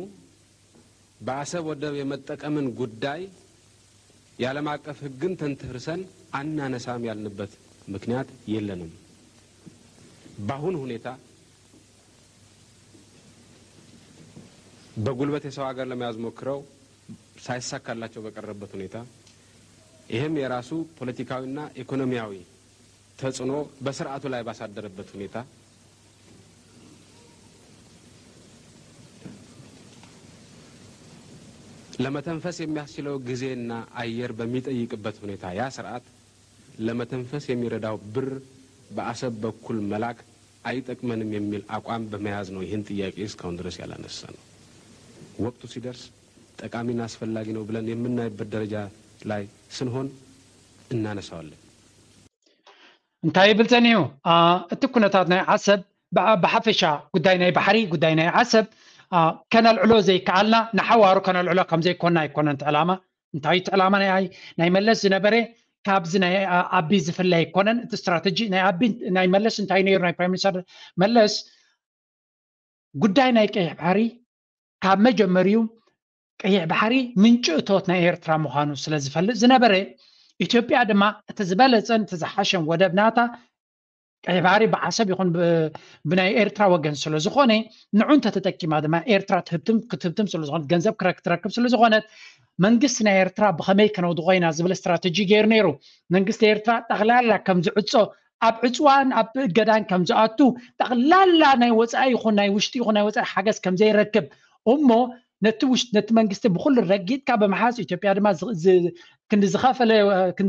በአሰብ ወደብ የመጠቀምን ጉዳይ የዓለም አቀፍ ሕግን ተንተርሰን አናነሳም ያልንበት ምክንያት የለንም። በአሁን ሁኔታ በጉልበት የሰው ሀገር ለመያዝ ሞክረው ሳይሳካላቸው በቀረበት ሁኔታ ይህም የራሱ ፖለቲካዊና ኢኮኖሚያዊ ተጽዕኖ በስርዓቱ ላይ ባሳደረበት ሁኔታ ለመተንፈስ የሚያስችለው ጊዜና አየር በሚጠይቅበት ሁኔታ ያ ስርዓት ለመተንፈስ የሚረዳው ብር በአሰብ በኩል መላክ አይጠቅመንም የሚል አቋም በመያዝ ነው ይህን ጥያቄ እስካሁን ድረስ ያላነሳ ነው። ወቅቱ ሲደርስ ጠቃሚና አስፈላጊ ነው ብለን የምናይበት ደረጃ ላይ ስንሆን እናነሳዋለን። እንታይ ይብል ጸኒሑ? እቲ ኩነታት ናይ ዓሰብ ብሓፈሻ ጉዳይ ናይ ባሕሪ፣ ጉዳይ ናይ ዓሰብ ከነልዕሎ ዘይከኣልና ንሓዋሩ ከነልዕሎ ከም ዘይኮና ኣይኮነን እቲ ዕላማ። እንታይ እቲ ዕላማ ናይ ናይ መለስ ዝነበረ ካብዚ ናይ ኣቢ ዝፍለ ኣይኮነን። እቲ ስትራተጂ ናይ ኣቢ ናይ መለስ እንታይ ነይሩ? ናይ ፕራይም ሚኒስተር መለስ ጉዳይ ናይ ቀይሕ ባሕሪ ካብ መጀመሪዩ ቀይሕ ባሕሪ ምንጪ እቶት ናይ ኤርትራ ምዃኑ ስለ ዝፈልጥ ዝነበረ ኢትዮጵያ ድማ እቲ ዝበለጸን እቲ ዝሓሸን ወደብ ናታ ቀይሕ ባሕሪ ብዓሰብ ይኹን ብናይ ኤርትራ ወገን ስለ ዝኾነ ንዑ እንተተጠቂማ ድማ ኤርትራ ትህብትም ክትህብትም ስለ ዝኾነት ገንዘብ ክረክ ትረክብ ስለ ዝኾነት መንግስቲ ናይ ኤርትራ ብኸመይ ከነውድቖ ኢና ዝብል ስትራተጂ ገይሩ ነይሩ። መንግስቲ ኤርትራ ጠቕላላ ከም ዝዕጾ ኣብ ዕፅዋን ኣብ እገዳን ከም ዝኣቱ ጠቕላላ ናይ ወፃኢ ይኹን ናይ ውሽጢ ይኹን ናይ ወፃኢ ሓገዝ ከም ዘይረክብ እሞ ነቲ ውሽ ነቲ መንግስቲ ብኩሉ ረጊጥካ ብምሓዝ ኢትዮጵያ ድማ ክንዲ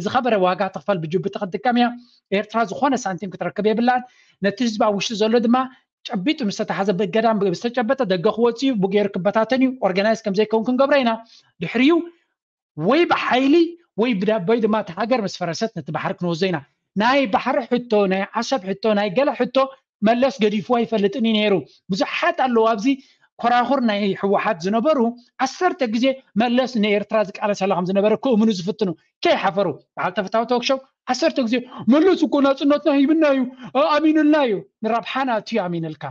ዝኸበረ ዋጋ ትኽፈል ብጅቡቲ ክትጥቀም እያ። ኤርትራ ዝኾነ ሳንቲም ክትረክብ የብላን። ነቲ ህዝቢ ኣብ ውሽጢ ዘሎ ድማ ጨቢጡ ምስ ተታሓዘ ብእገዳ ዝተጨበጠ ደገ ክወፅ እዩ ብገይሩ ክበታተን እዩ። ኦርጋናይዝ ከም ዘይከውን ክንገብሮ ኢና። ድሕሪዩ ወይ ብሓይሊ ወይ ብዳቦይ ድማ እቲ ሃገር ምስ ፈረሰት ነቲ ባሕሪ ክንወስዶ ኢና። ናይ ባሕሪ ሕቶ፣ ናይ ዓሰብ ሕቶ፣ ናይ ገለ ሕቶ መለስ ገዲፍዎ ኣይፈልጥን እዩ ነይሩ። ብዙሓት ኣለዉ ኣብዚ ኮራኹር ናይ ህወሓት ዝነበሩ ዓሰርተ ግዜ መለስ ንኤርትራ ዝቃለሰላ ከም ዝነበረ ክእምኑ ዝፍትኑ ከይሓፈሩ በዓል ተፈታዊ ቶክሾው ዓሰርተ ግዜ መለስ እኮ ናፅነትና ሂብና እዩ ኣሚኑልና እዩ ንራብሓና እቲ እዩ ኣሚንልካ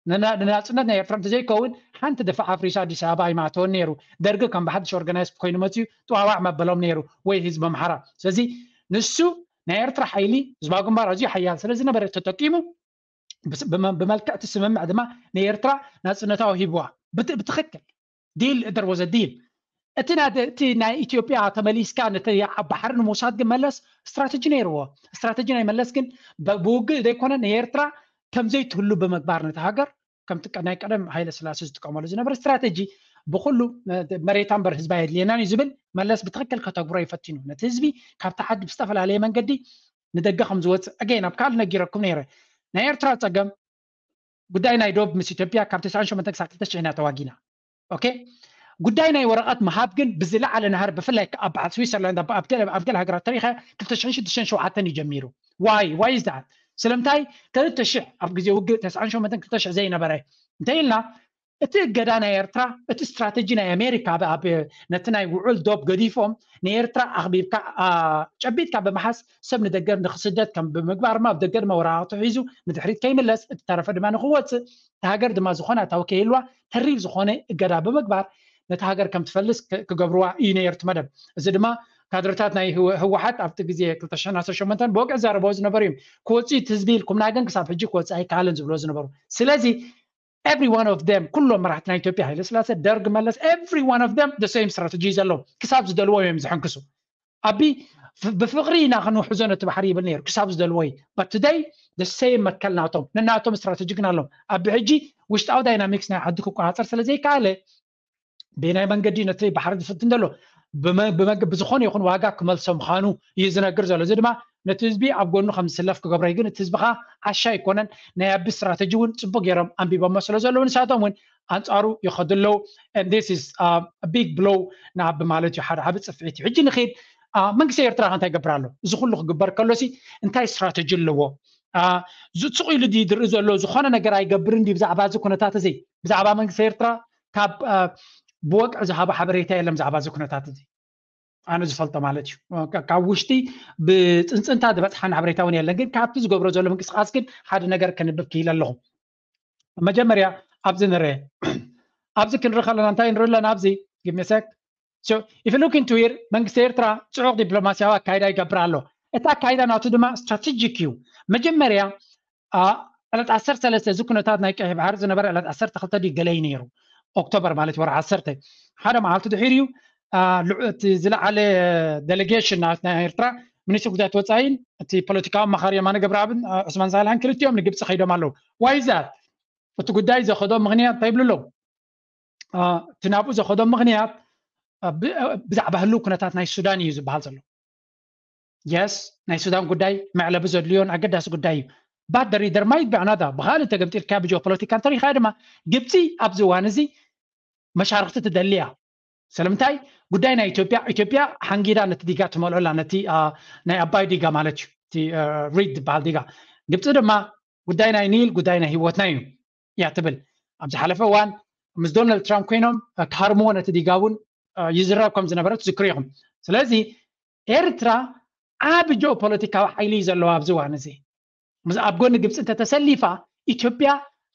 ንናፅነት ናይ ኤርትራ እንተዘይከውን ሓንቲ ድፋዕ ኣፍሪሱ ኣዲስ ኣበባ ኣይማእተወን ነይሩ። ደርጊ ከም ብሓድሽ ኦርጋናይዝ ኮይኑ መፅዩ ጥዋዋዕ መበሎም ነይሩ ወይ ህዝቢ ኣምሓራ። ስለዚ ንሱ ናይ ኤርትራ ሓይሊ ህዝባዊ ግንባር ኣዝዩ ሓያል ስለ ዝነበረ ተጠቂሙ ብመልክዕ እቲ ስምምዕ ድማ ንኤርትራ ናፅነታዊ ሂብዋ ብትክክል ዲል እደር ወዘ ዲል እቲ እቲ ናይ ኢትዮጵያ ተመሊስካ ነቲ ባሕሪ ንምውሳድ ግን መለስ ስትራተጂ ነይርዎ። ስትራተጂ ናይ መለስ ግን ብውግእ ዘይኮነ ንኤርትራ ከምዘይትህሉ ብምግባር ነቲ ሃገር ከምቲ ናይ ቀደም ሃይለ ስላሴ ዝጥቀመሉ ዝነበረ ስትራተጂ ብኩሉ መሬታ እምበር ህዝባ የድልየናን እዩ ዝብል መለስ ብትክክል ከተግብሮ ይፈቲኑ ነቲ ህዝቢ ካብቲ ዓዲ ብዝተፈላለየ መንገዲ ንደገ ከም ዝወፅእ ኣገይን ኣብ ካልእ ነጊረኩም ነይረ ናይ ኤርትራ ፀገም ጉዳይ ናይ ዶብ ምስ ኢትዮጵያ ካብ ተስዓን ሸሞንተን ክሳብ ክልተ ሽሕን ኢና ተዋጊና። ኦኬ ጉዳይ ናይ ወረቐት ምሃብ ግን ብዝለዓለ ናህር ብፍላይ ኣብ በዓል ስዊሰርላንድ ኣብ ገለ ሃገራት ተሪኸ ክልተ ሽሕን ሽዱሽተን ሸውዓተን እዩ ጀሚሩ። ዋይ ዋይ ዛት ስለምንታይ ክልተ ሽሕ ኣብ ግዜ ውግእ ተስዓን ሸሞንተን ክልተ ሽሕ ዘይነበረ እንተ ኢልና እቲ እገዳ ናይ ኤርትራ እቲ ስትራተጂ ናይ ኣሜሪካ ነቲ ናይ ውዑል ዶብ ገዲፎም ንኤርትራ ኣኽቢብካ ጨቢጥካ ብምሓዝ ሰብ ንደገ ንክስደድ ከም ብምግባር ኣብ ደገ ድማ ወረቓቕቱ ሒዙ ንድሕሪት ከይምለስ እቲ ተረፈ ድማ ንክወፅእ እቲ ሃገር ድማ ዝኾነ ኣታዊ ከይህልዋ ተሪር ዝኾነ እገዳ ብምግባር ነቲ ሃገር ከም ትፈልስ ክገብርዋ እዩ ነይሩ እቲ መደብ። እዚ ድማ ካድረታት ናይ ህወሓት ኣብቲ ግዜ ክልተ ሽሕን ዓሰርተ ሸሞንተን ብወግዒ ዝዛረብዎ ዝነበሩ እዮም። ክወፅእ እዩ ህዝቢ ኢልኩምና ግን ክሳብ ሕጂ ክወፅእ ኣይከኣልን ዝብልዎ ዝነበሩ። ስለዚ every one of them ኩሎም መራሕቲ ናይ ኢትዮጵያ ሃይለስላሴ ደርግ መለስ every one of them the same strategy ዘለዎም ክሳብ ዝደልዎ እዮም ዝሕንክሱ። ኣቢ ብፍቕሪ ኢና ክንውሕዞ ነቲ ባሕሪ ይብል ነይሩ ክሳብ ዝደልዎ እዩ። But today the same መትከል ናቶም ነናቶም ስትራተጂ ግን ኣለዎም። ኣቢ ሕጂ ውሽጣዊ ዳይናሚክስ ናይ ዓዲ ክቆፃፀር ስለዘይከኣለ ብናይ መንገዲ ነቲ ባሕሪ ዝፍትን ዘሎ ብዝኾነ ይኹን ዋጋ ክመልሶ ምዃኑ እዩ ዝነግር ዘሎ። እዚ ድማ ነቲ ህዝቢ ኣብ ጎኑ ከም ዝስለፍ ክገብሮ እዩ። ግን እቲ ህዝቢ ከዓ ዓሻ ኣይኮነን። ናይ ኣቢ ስትራተጂ እውን ፅቡቅ ገይሮም ኣንቢቦሞ ስለ ዘለዉ ንሳቶም እውን ኣንፃሩ ይኸዱ ኣለዉ። This is big blow ንኣቢ ማለት እዩ። ሓደ ዓቢ ፅፍዒት እዩ። ሕጂ ንኽድ መንግስቲ ኤርትራ ከ እንታይ ይገብር ኣሎ? እዚ ኩሉ ክግበር ከሎሲ እንታይ ስትራተጂ ኣለዎ? ስቕ ኢሉ ድዩ ዝርኢ ዘሎ? ዝኾነ ነገር ኣይገብርን ድዩ ብዛዕባ እዚ ኩነታት እዚ? ብዛዕባ መንግስቲ ኤርትራ ካብ ብወግዒ ዝሃቦ ሓበሬታ የለን ብዛዕባ እዚ ኩነታት እዚ ኣነ ዝፈልጦ ማለት እዩ። ካብ ውሽጢ ብፅንፅንታ ዝበፅሓኒ ሓበሬታ እውን የለን። ግን ካብቲ ዝገብሮ ዘሎ ምንቅስቃስ ግን ሓደ ነገር ከንብብ ክኢለ ኣለኹ። መጀመርያ ኣብዚ ንርአ ኣብዚ ክንርኢ ከለና እንታይ ንርኢ ኣለና? ኣብዚ give me a sec if you look into here መንግስቲ ኤርትራ ፅዑቕ ዲፕሎማሲያዊ ኣካይዳ ይገብር ኣሎ። እቲ ኣካይዳ ናቱ ድማ ስትራቴጂክ እዩ። መጀመርያ ዕለት ዓሰርተ ሰለስተ እዚ ኩነታት ናይ ቀይሕ ባሕሪ ዝነበረ ዕለት ዓሰርተ ክልተ ድዩ ገለ እዩ ነይሩ። ኦክቶበር ማለት ወርሒ ዓሰርተ ሓደ መዓልቲ ድሒሩ እዩ። እቲ ዝለዓለ ዴሌጌሽን ናይ ኤርትራ ሚኒስትሪ ጉዳያት ወፃኢን እቲ ፖለቲካዊ ኣማኻሪ የማነ ገብረኣብን ዑስማን ሳልሕን ክልቲኦም ንግብፂ ከይዶም ኣለዉ። ዋይዛት እቲ ጉዳይ ዘኸዶም ምክንያት እንታይ ይብሉ ኣለዉ? እቲ ናብኡ ዘኸዶም ምክንያት ብዛዕባ ህልው ኩነታት ናይ ሱዳን እዩ ዝበሃል ዘሎ። የስ ናይ ሱዳን ጉዳይ መዕለቢ ዘድልዮን ኣገዳሲ ጉዳይ እዩ። ባደሪ ደርማይት ብዕናዳ ብካልእ ተገምጢልካ ብጂኦፖለቲካ እንተሪካ ድማ ግብፂ ኣብዚ እዋን እዚ መሻርክቲ ትደሊ እያ። ስለምንታይ ጉዳይ ናይ ኢትዮጵያ ኢትዮጵያ ሓንጊዳ ነቲ ዲጋ ትመልኦላ ነቲ ናይ ኣባይ ዲጋ ማለት እዩ እቲ ሪድ ዝበሃል ዲጋ። ግብፂ ድማ ጉዳይ ናይ ኒል ጉዳይ ናይ ህይወትና እዩ እያ ትብል። ኣብ ዝሓለፈ እዋን ምስ ዶናልድ ትራምፕ ኮይኖም ክሃርምዎ ነቲ ዲጋ እውን ይዝረብ ከም ዝነበረ ትዝክሩ ኢኹም። ስለዚ ኤርትራ ዓቢ ጂኦፖለቲካዊ ሓይሊ እዩ ዘለዋ ኣብዚ እዋን እዚ። ኣብ ጎኒ ግብፂ እንተተሰሊፋ ኢትዮጵያ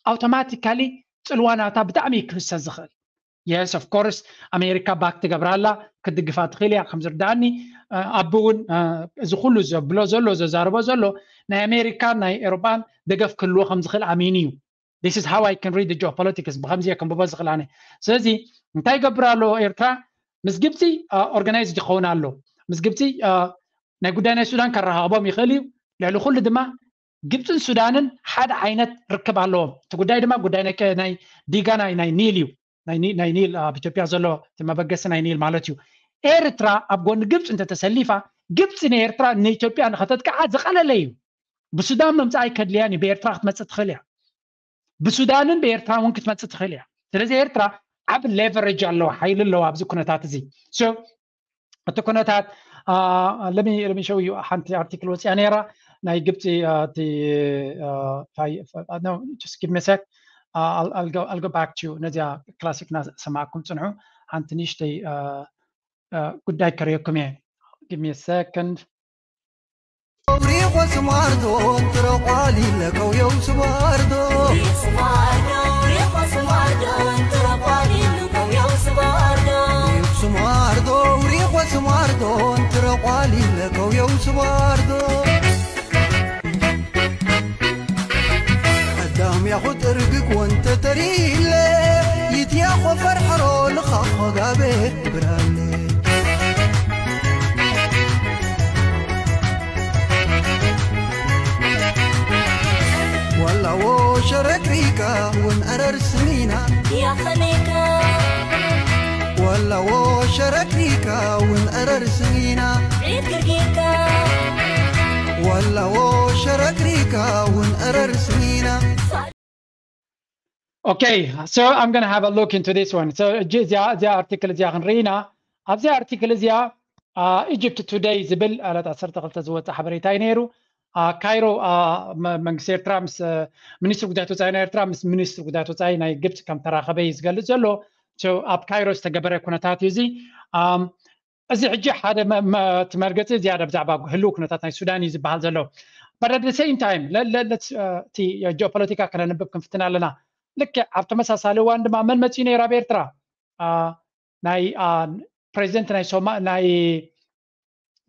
ኣውቶማቲካሊ ፅልዋ ናታ ብጣዕሚ እዩ ክህሰ ዝኽእል። የስ ኦፍ ኮርስ ኣሜሪካ ባክ ትገብራ ኣላ ክትድግፋ ትኽእል እያ ከም ዝርዳእኒ። ኣቢ እውን እዚ ኩሉ ዘብሎ ዘሎ ዘዛርቦ ዘሎ ናይ ኣሜሪካን ናይ ኤሮጳን ደገፍ ክህልዎ ከም ዝኽእል ኣሚኑ እዩ። This is how I can read the geopolitics ብከምዚ እየ ከንብቦ ዝኽእል ኣነ። ስለዚ እንታይ ይገብር ኣሎ ኤርትራ? ምስ ግብፂ ኦርጋናይዝ ይኸውን ኣሎ። ምስ ግብፂ ናይ ጉዳይ ናይ ሱዳን ከረኻኽቦም ይኽእል እዩ። ልዕሊ ኩሉ ድማ ግብፅን ሱዳንን ሓደ ዓይነት ርክብ ኣለዎም። እቲ ጉዳይ ድማ ጉዳይ ናይ ዲጋ ናይ ኒል እዩ። ናይ ኒል ኣብ ኢትዮጵያ ዘሎ እቲ መበገሲ ናይ ኒል ማለት እዩ። ኤርትራ ኣብ ጎኒ ግብፂ እንተተሰሊፋ ግብፂ ንኤርትራ ንኢትዮጵያ ንኸተጥቅዓ ዝቐለለ እዩ። ብሱዳን ምምፃእ ኣይከድልያን እዩ። ብኤርትራ ክትመፅእ ትኽእል እያ። ብሱዳንን ብኤርትራ እውን ክትመፅእ ትኽእል እያ። ስለዚ ኤርትራ ዓብ ሌቨሬጅ ኣለዋ፣ ሓይሊ ኣለዋ ኣብዚ ኩነታት እዚ። እቲ ኩነታት ለሚ ሸው እዩ ሓንቲ ኣርቲክል ወፅያ ነይራ ናይ ግብፂ እቲ give me a sec I'll go back to ነዚኣ ክላሲክ እናሰማዕኩም ፅንሑ። ሓንቲ ንእሽተይ ጉዳይ ከርእየኩም እየ። Give me a second. ሪኾ ስማርዶ ትረቋሊለ ከውየው ስባርዶ ስማርዶ ሪኾ ስማርዶ ትረቋሊለ ከውየው ስባርዶ ቀዳም ያኹ ጥርግግ ወንተ ተሪለ ይትያኾ ፈርሐሮ ልኻኾ ጋቤ ብራለ ዋላዎ ሸረክሪካ ውን ዕረር ስሚና ያኸሜካ ዋላዎ ሸረክሪካ ውን ዕረር ስሚና ዒድ ግርጊካ ዋላዎ ሸረክሪካ ውን ዕረር ስሚና Okay, so I'm going to have a look into this one. So እዚኣ ኣርቲክል እዚኣ ክንርኢ ኢና። ኣብዚ ኣርቲክል እዚኣ ኢጅፕት ቱደይ ዝብል ዕለት ዓሰርተ ክልተ ዝወፀ ሓበሬታ እዩ ነይሩ። ካይሮ መንግስቲ ኤርትራ ምስ ሚኒስትሪ ጉዳያት ወፃኢ ናይ ኤርትራ ምስ ሚኒስትሪ ጉዳያት ወፃኢ ናይ ግብፂ ከም ተራኸበ እዩ ዝገልፅ ዘሎ። ኣብ ካይሮ ዝተገበረ ኩነታት እዩ እዚ። እዚ ሕጂ ሓደ እቲ መርገፂ ዝያዳ ብዛዕባ ህልው ኩነታት ናይ ሱዳን እዩ ዝበሃል ዘሎ። But at the same time እቲ ጂኦፖለቲካ ከነንብብ ክንፍትን ኣለና። ልክዕ ኣብ ተመሳሳሊ እዋን ድማ መን መፂኡ ነይሩ ኣብ ኤርትራ? ናይ ፕሬዚደንት ናይ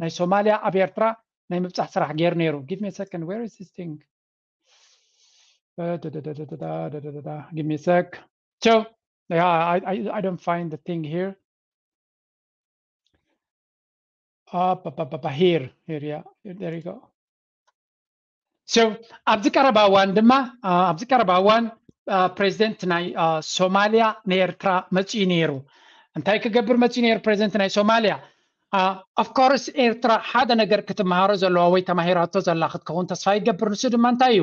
ናይ ሶማልያ ኣብ ኤርትራ ናይ ምብፃሕ ስራሕ ገይሩ ነይሩ። Give me a second, where is this thing? Give me a sec. So yeah, I, I, I don't find the thing here. Up, up, up, up, here, here, yeah, there you go. So ኣብዚ ቀረባ እዋን ድማ ኣብዚ ቀረባ እዋን ፕሬዚደንት ናይ ሶማልያ ንኤርትራ መፅኡ ነይሩ። እንታይ ክገብር መፅኡ ነይሩ ፕሬዚደንት ናይ ሶማልያ? Of course ኤርትራ ሓደ ነገር ክትመሃሮ ዘለዋ ወይ ተማሂራቶ ዘላ ክትከውን ተስፋ ይገብር። ንሱ ድማ እንታይ እዩ?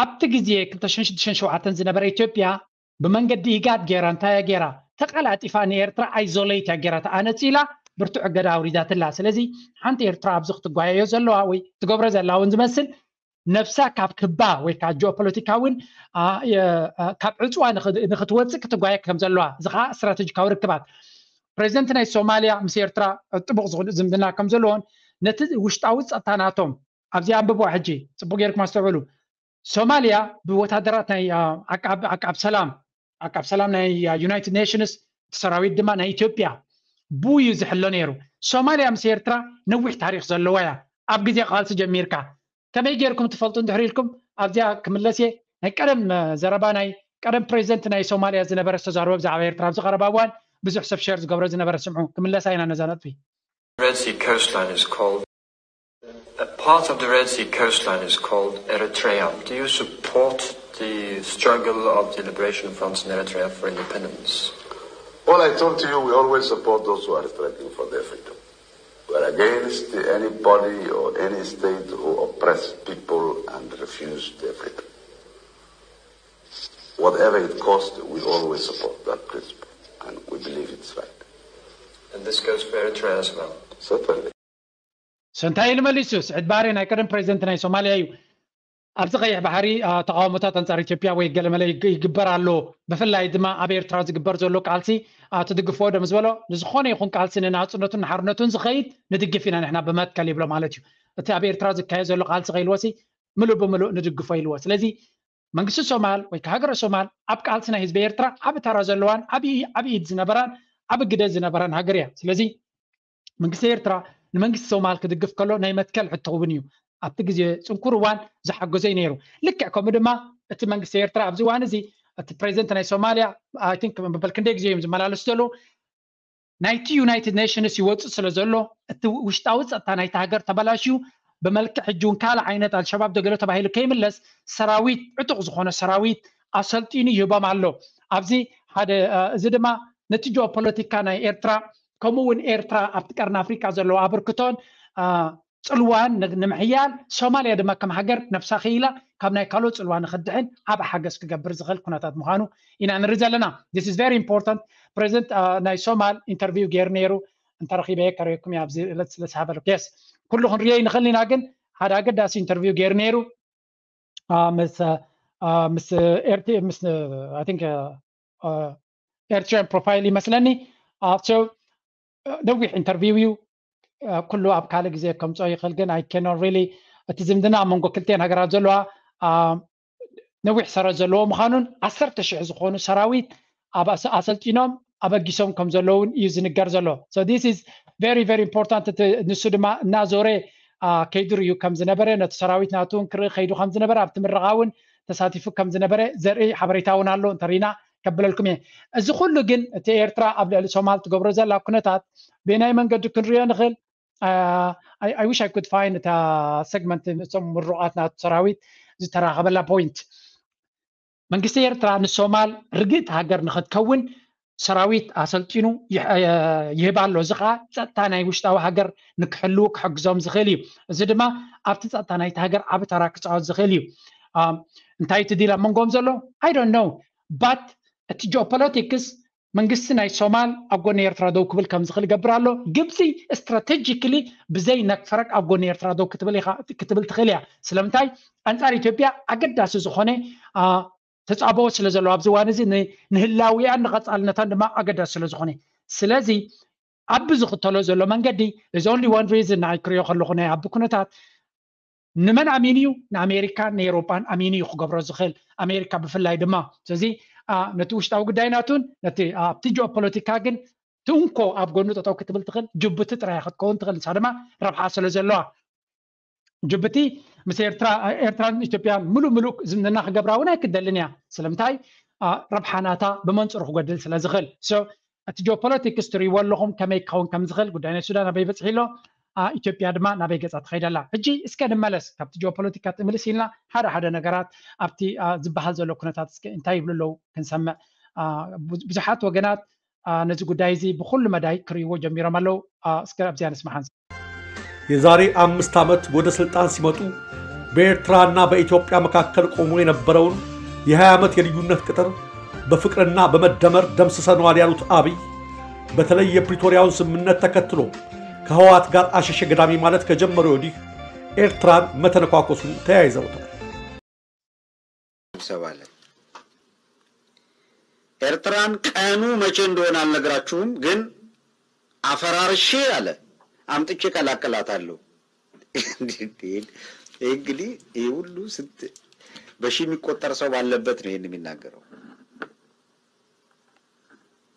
ኣብቲ ግዜ ክልተ ሽሕን ሽዱሽተን ዝነበረ ኢትዮጵያ ብመንገዲ ኢጋድ ገይራ እንታይ እያ ገይራ? ተቀላጢፋ ንኤርትራ isolate እያ ገይራታ፣ ኣነፂላ ብርቱዕ እገዳ ኣውሪዳትላ። ስለዚ ሓንቲ ኤርትራ ኣብዚ ክትጓየዮ ዘለዋ ወይ ትገብሮ ዘላ እውን ዝመስል ነብሳ ካብ ክባ ወይ ካብ ጂኦፖለቲካ እውን ካብ ዕፅዋ ንክትወፅእ ክትጓየ ከም ዘለዋ፣ እዚ ከዓ ስትራቴጂካዊ ርክባት ፕሬዚደንት ናይ ሶማልያ ምስ ኤርትራ ጥቡቅ ዝምድና ከም ዘለዎን ነቲ ውሽጣዊ ፀጥታ ናቶም ኣብዚ ኣንብብዋ ሕጂ ፅቡቅ ጌርኩም ኣስተውዕሉ። ሶማልያ ብወታደራት ናይ ዓቃብ ሰላም ዓቃብ ሰላም ናይ ዩናይትድ ኔሽንስ እቲ ሰራዊት ድማ ናይ ኢትዮጵያ ብኡ እዩ ዝሕሎ ነይሩ። ሶማልያ ምስ ኤርትራ ነዊሕ ታሪክ ዘለዋ እያ። ኣብ ግዜ ቃልሲ ጀሚርካ ከመይ ጌርኩም ትፈልጡ እንድሕር ኢልኩም ኣብዚኣ ክምለስ እየ። ናይ ቀደም ዘረባ ናይ ቀደም ፕሬዚደንት ናይ ሶማልያ ዝነበረ ዝተዛረቦ ብዛዕባ ኤርትራ ኣብዚ ቀረባ እዋን ብዙሕ ሰብ ሸር ዝገብሮ ዝነበረ ስምዑ። ክምለሳ ኢና ነዛ ነጥቢ። Red Sea coastline is called a part of the Red Sea coastline is called Eritrea. Do you support the struggle of the Liberation Fronts in Eritrea for independence? Well, I told you we always support those who are struggling for their freedom. We're against anybody or any state who oppress people and refuse their freedom. Whatever it costs, we always support that principle and we believe it's right. And this goes for Eritrea as well. Certainly. So እንታይ ኢሉ መሊሱ? ስዕድ ባሬ ናይ ቀደም ፕሬዚደንት ናይ ሶማልያ እዩ። ኣብዚ ቀይሕ ባሕሪ ተቃውሞታት ኣንጻር ኢትዮጵያ ወይ ገለመለ ይግበር ኣሎ፣ ብፍላይ ድማ ኣብ ኤርትራ ዝግበር ዘሎ ቃልሲ ትድግፍዎ ዶ ምስ በሎ፣ ንዝኾነ ይኹን ቃልሲ ንናጽነቱን ንሓርነቱን ዝኸይድ ንድግፍ ኢና ንሕና ብመትከል ይብሎ ማለት እዩ። እቲ ኣብ ኤርትራ ዝካየድ ዘሎ ቃልሲ ከይልዎሲ ምሉእ ብምሉእ ንድግፎ ኢልዎ። ስለዚ መንግስቲ ሶማል ወይ ሃገረ ሶማል ኣብ ቃልሲ ናይ ህዝቢ ኤርትራ ዓቢ ተራ ዘለዋን ዓቢ ኢድ ዝነበራን ዓቢ ግደ ዝነበራን ሃገር እያ። ስለዚ መንግስቲ ኤርትራ ንመንግስቲ ሶማል ክድግፍ ከሎ ናይ መትከል ሕቶ እውን እዩ። ኣብቲ ግዜ ጽንኩር እዋን ዝሓገዞ እዩ ነይሩ። ልክዕ ከምኡ ድማ እቲ መንግስቲ ኤርትራ ኣብዚ እዋን እዚ እቲ ፕሬዚደንት ናይ ሶማልያ I think መበል ክንደይ ግዜ እዮም ዝመላለሱ ዘለዉ ናይቲ ዩናይትድ ኔሽንስ ይወፅእ ስለ ዘሎ እቲ ውሽጣዊ ፀጥታ ናይቲ ሃገር ተበላሽዩ ብመልክዕ ሕጂ እውን ካልእ ዓይነት ኣልሸባብ ዶ ገለ ተባሂሉ ከይምለስ ሰራዊት ዕጡቕ ዝኾነ ሰራዊት ኣሰልጢኑ ይህቦም ኣሎ። ኣብዚ ሓደ እዚ ድማ ነቲ ጂኦፖለቲካ ናይ ኤርትራ ከምኡ እውን ኤርትራ ኣብቲ ቀርኒ ኣፍሪቃ ዘለዎ ኣበርክቶን ፅልዋን ንምሕያል ሶማልያ ድማ ከም ሃገር ነብሳ ክኢላ ካብ ናይ ካልኦት ፅልዋ ንክድሕን ዓብ ሓገዝ ክገብር ዝኽእል ኩነታት ምዃኑ ኢና ንርኢ ዘለና። This is very important. ፕሬዚደንት ናይ ሶማል ኢንተርቪው ገይሩ ነይሩ እንተረኺበ ከርእየኩም እየ ኣብዚ ዕለት ስለ ዝሃበልኩ። Yes ኩሉ ክንርእዮ ይንኽእል ኢና፣ ግን ሓደ ኣገዳሲ ኢንተርቪው ገይሩ ነይሩ ምስ ምስ ኤርቲ ምስ I think ኤርትራን ፕሮፋይል ይመስለኒ። So ነዊሕ ኢንተርቪው እዩ። ኩሉ ኣብ ካልእ ግዜ ከምፅኦ ይኽእል፣ ግን I cannot really እቲ ዝምድና ኣብ መንጎ ክልቲኤን ሃገራት ዘለዋ ነዊሕ ሰረት ዘለዎ ምዃኑን ዓሰርተ ሽሕ ዝኾኑ ሰራዊት ኣብ ኣሰልጢኖም ኣበጊሶም ከም ዘለውን እዩ ዝንገር ዘሎ። So this is very very important። ንሱ ድማ እናዞረ ከይዱ ርእዩ ከም ዝነበረ ነቲ ሰራዊት ናቱ እውን ክርኢ ከይዱ ከም ዝነበረ ኣብቲ ምረቓ እውን ተሳቲፉ ከም ዝነበረ ዘርኢ ሓበሬታ እውን ኣሎ እንተሪና ከብለልኩም እየ። እዚ ኩሉ ግን እቲ ኤርትራ ኣብ ልዕሊ ሶማል ትገብሮ ዘላ ኩነታት ብናይ መንገዲ ክንሪኦ ንኽእል። I wish I could find እታ ሰግመንት እቶም ምሩቓት ናቱ ሰራዊት ዝተራኸበላ ፖይንት። መንግስቲ ኤርትራ ንሶማል ርግእቲ ሃገር ንኽትከውን ሰራዊት ኣሰልጢኑ ይህብ ኣሎ። እዚ ከዓ ፀጥታ ናይ ውሽጣዊ ሃገር ንክሕልዉ ክሕግዞም ዝኽእል እዩ። እዚ ድማ ኣብቲ ፀጥታ ናይቲ ሃገር ዓቢ ተራ ክፃወት ዝኽእል እዩ። እንታይ እቲ ዲል ኣብ መንጎም ዘሎ? I don't know but እቲ ጂኦፖለቲክስ መንግስቲ ናይ ሶማል ኣብ ጎኒ ኤርትራ ደው ክብል ከም ዝኽእል ይገብር ኣሎ። ግብፂ ስትራቴጂክሊ ብዘይ ነክፈረቅ ኣብ ጎኒ ኤርትራ ደው ክትብል ክትብል ትኽእል እያ። ስለምንታይ? ኣንፃር ኢትዮጵያ ኣገዳሲ ዝኾነ ተፃብኦ ስለ ዘለዎ ኣብዚ እዋን እዚ ንህላዊኣን ንቐፃልነታን ድማ ኣገዳሲ ስለ ዝኾነ፣ ስለዚ ኣብ ዝኽተሎ ዘሎ መንገዲ is only one reason ንዓይ ክሪኦ ከለኹ ናይ ኣብ ኩነታት ንመን ኣሚኑ እዩ? ንኣሜሪካን ንኤውሮጳን ኣሚኑ እዩ ክገብሮ ዝኽእል፣ ኣሜሪካ ብፍላይ ድማ። ስለዚ ነቲ ውሽጣዊ ጉዳይ ናቱን ነቲ ኣብቲ ጂኦፖለቲካ ግን ትንኮ ኣብ ጎኑ ጠጠው ክትብል ትኽእል ጅቡቲ ጥራይ ክትከውን ትኽእል፣ ንሳ ድማ ረብሓ ስለ ዘለዋ። ጅቡቲ ምስ ኤርትራ ኤርትራን ኢትዮጵያን ምሉእ ምሉእ ዝምድና ክገብራ እውን ኣይክደልን እያ። ስለምንታይ? ረብሓ ናታ ብመንፅሩ ክጎድል ስለ ዝኽእል። እቲ ጂኦፖለቲክስ ትሪእዎ ኣለኹም ከመይ ክኸውን ከም ዝኽእል፣ ጉዳይ ናይ ሱዳን ኣበይ በፅሒ ኣሎ፣ ኢትዮጵያ ድማ ናበይ ገፃ ትኸይድ ኣላ። ሕጂ እስከ ንመለስ፣ ካብቲ ጂኦፖለቲካ ትምልስ ኢልና ሓደ ሓደ ነገራት ኣብቲ ዝበሃል ዘሎ ኩነታት እስከ እንታይ ይብሉ ኣለዉ ክንሰምዕ። ብዙሓት ወገናት ነዚ ጉዳይ እዚ ብኩሉ መዳይ ክርእይዎ ጀሚሮም ኣለዉ። እስከ ኣብዚኣ ንስማዕ። የዛሬ አምስት ዓመት ወደ ስልጣን ሲመጡ በኤርትራና በኢትዮጵያ መካከል ቆሞ የነበረውን የ20 ዓመት የልዩነት ቅጥር በፍቅርና በመደመር ደምስሰነዋል ያሉት አብይ፣ በተለይ የፕሪቶሪያውን ስምምነት ተከትሎ ከህወሓት ጋር አሸሸ ገዳሚ ማለት ከጀመሩ ወዲህ ኤርትራን መተነኳኮሱን ተያይዘውታል። ስብሰባ ላይ ኤርትራን ቀኑ መቼ እንደሆነ አልነግራችሁም፣ ግን አፈራርሼ አለ አምጥቼ ቀላቅላታለሁ። እንግዲህ ይህ ሁሉ ስንት በሺ የሚቆጠር ሰው ባለበት ነው ይህን የሚናገረው።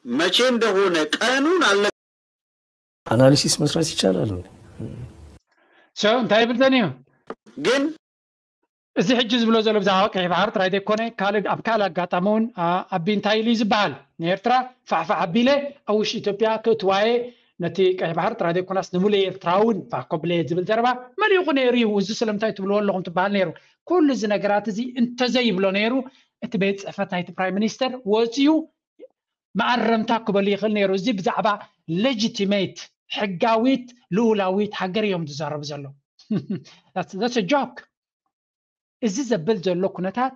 መቼ እንደሆነ ቀኑን አለ አናሊሲስ መስራት ይቻላል። እንታይ ይብል ተን እዩ ግን እዚ ሕጂ ዝብሎ ዘሎ ብዛዕባ ቀይ ባሕሪ ጥራይ ዘይኮነ ካልእ ኣብ ካልእ ኣጋጣሚ እውን ኣቢ እንታይ ኢሉ እዩ ዝበሃል? ንኤርትራ ፋሕፋሕ ኣቢለ ኣብ ውሽጢ ኢትዮጵያ ክእትዋየ ነቲ ቀይ ባሕሪ ጥራይ ዘይኮናስ ንሙሉእ ኤርትራ እውን ፋሕ ኮብለየ ዝብል ዘረባ መሊኹ ነይሩ እዩ። እዚ ስለምንታይ ትብልዎ ኣለኹም ትበሃል ነይሩ። ኩሉ እዚ ነገራት እዚ እንተዘይብሎ ነይሩ እቲ ቤት ፅሕፈት ናይቲ ፕራይም ሚኒስተር ወፂኡ መኣረምታ ክበሉ ይኽእል ነይሩ። እዚ ብዛዕባ ሌጂቲሜት ሕጋዊት ልኡላዊት ሃገር እዮም ዝዛረቡ ዘለዉ። ጆክ እዚ ዘብል ዘሎ ኩነታት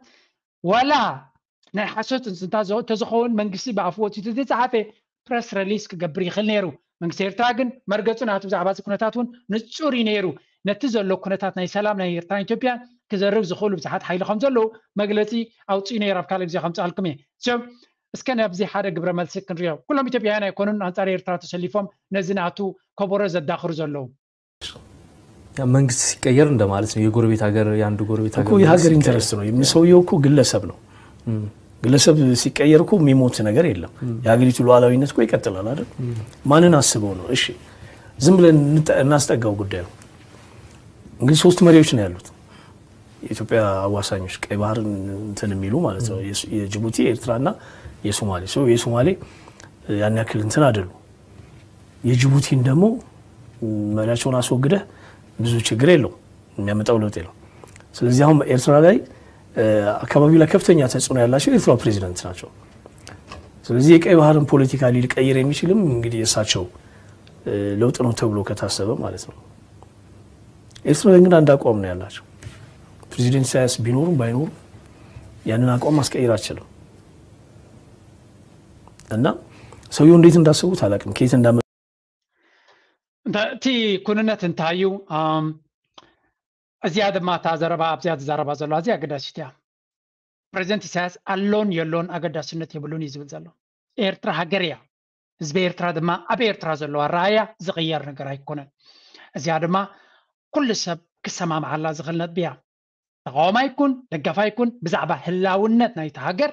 ዋላ ናይ ሓሶት እንስንታ ተዝኸውን መንግስቲ ብኣፉ ወፂኡ ተዝፀሓፈ ፕረስ ረሊስ ክገብር ይኽእል ነይሩ። መንግስቲ ኤርትራ ግን መርገፁ ናቱ ብዛዕባ እዚ ኩነታት እውን ንፁር እዩ ነይሩ። ነቲ ዘሎ ኩነታት ናይ ሰላም ናይ ኤርትራን ኢትዮጵያን ክዘርግ ዝኽእሉ ብዙሓት ሓይሊ ከም ዘለዉ መግለፂ ኣውፅኡ ነይሩ። ኣብ ካልእ ግዜ ከምፅኣልኩም እየ። እስከ ናብዚ ሓደ ግብረ መልሲ ክንሪኦ። ኩሎም ኢትዮጵያውያን ኣይኮኑን ኣንፃር ኤርትራ ተሰሊፎም ነዚ ናቱ ከበሮ ዘዳኽሩ ዘለዉ። መንግስት ሲቀየር እንደማለት ነው። የጎረቤት ሀገር የአንድ ጎረቤት እኮ የሀገር ኢንተረስት ነው። ሰውየው እኮ ግለሰብ ነው። ግለሰብ ሲቀየር እኮ የሚሞት ነገር የለም። የሀገሪቱ ሉዓላዊነት እኮ ይቀጥላል አይደል? ማንን አስበው ነው? እሺ ዝም ብለን እናስጠጋው ጉዳዩ። እንግዲህ ሶስት መሪዎች ነው ያሉት የኢትዮጵያ አዋሳኞች፣ ቀይ ባህርን እንትን የሚሉ ማለት ነው። የጅቡቲ፣ የኤርትራና የሶማሌ። የሶማሌ ያን ያክል እንትን አይደሉ። የጅቡቲን ደግሞ መሪያቸውን አስወግደህ ብዙ ችግር የለው፣ የሚያመጣው ለውጥ የለው። ስለዚህ አሁን ኤርትራ ላይ አካባቢ ላይ ከፍተኛ ተጽዕኖ ያላቸው የኤርትራው ፕሬዚደንት ናቸው። ስለዚህ የቀይ ባህርን ፖለቲካ ሊቀይር የሚችልም እንግዲህ የእሳቸው ለውጥ ነው ተብሎ ከታሰበ ማለት ነው። ኤርትራውያን ግን አንድ አቋም ነው ያላቸው። ፕሬዚደንት ኢሳያስ ቢኖሩም ባይኖሩም ያንን አቋም ማስቀየር አልችልም። እና ሰውየው እንዴት እንዳሰቡት አላውቅም፣ ከየት እንዳመ እቲ ኩንነት እንታይ እዩ? እዚኣ ድማ እታ ዘረባ ኣብዚኣ ዝዛረባ ዘሎ ኣዝያ ኣገዳሲት እያ። ፕሬዚደንት ኢሳያስ ኣሎን የሎን ኣገዳስነት የብሉን እዩ ዝብል ዘሎ። ኤርትራ ሃገር እያ። ህዝቢ ኤርትራ ድማ ኣብ ኤርትራ ዘለዎ ኣረኣእያ ዝቕየር ነገር ኣይኮነን። እዚኣ ድማ ኩሉ ሰብ ክሰማምዓላ ዝኽእል ነጥቢ እያ። ተቓዋማይ ይኩን ደጋፋይ ይኩን ብዛዕባ ህላውነት ናይቲ ሃገር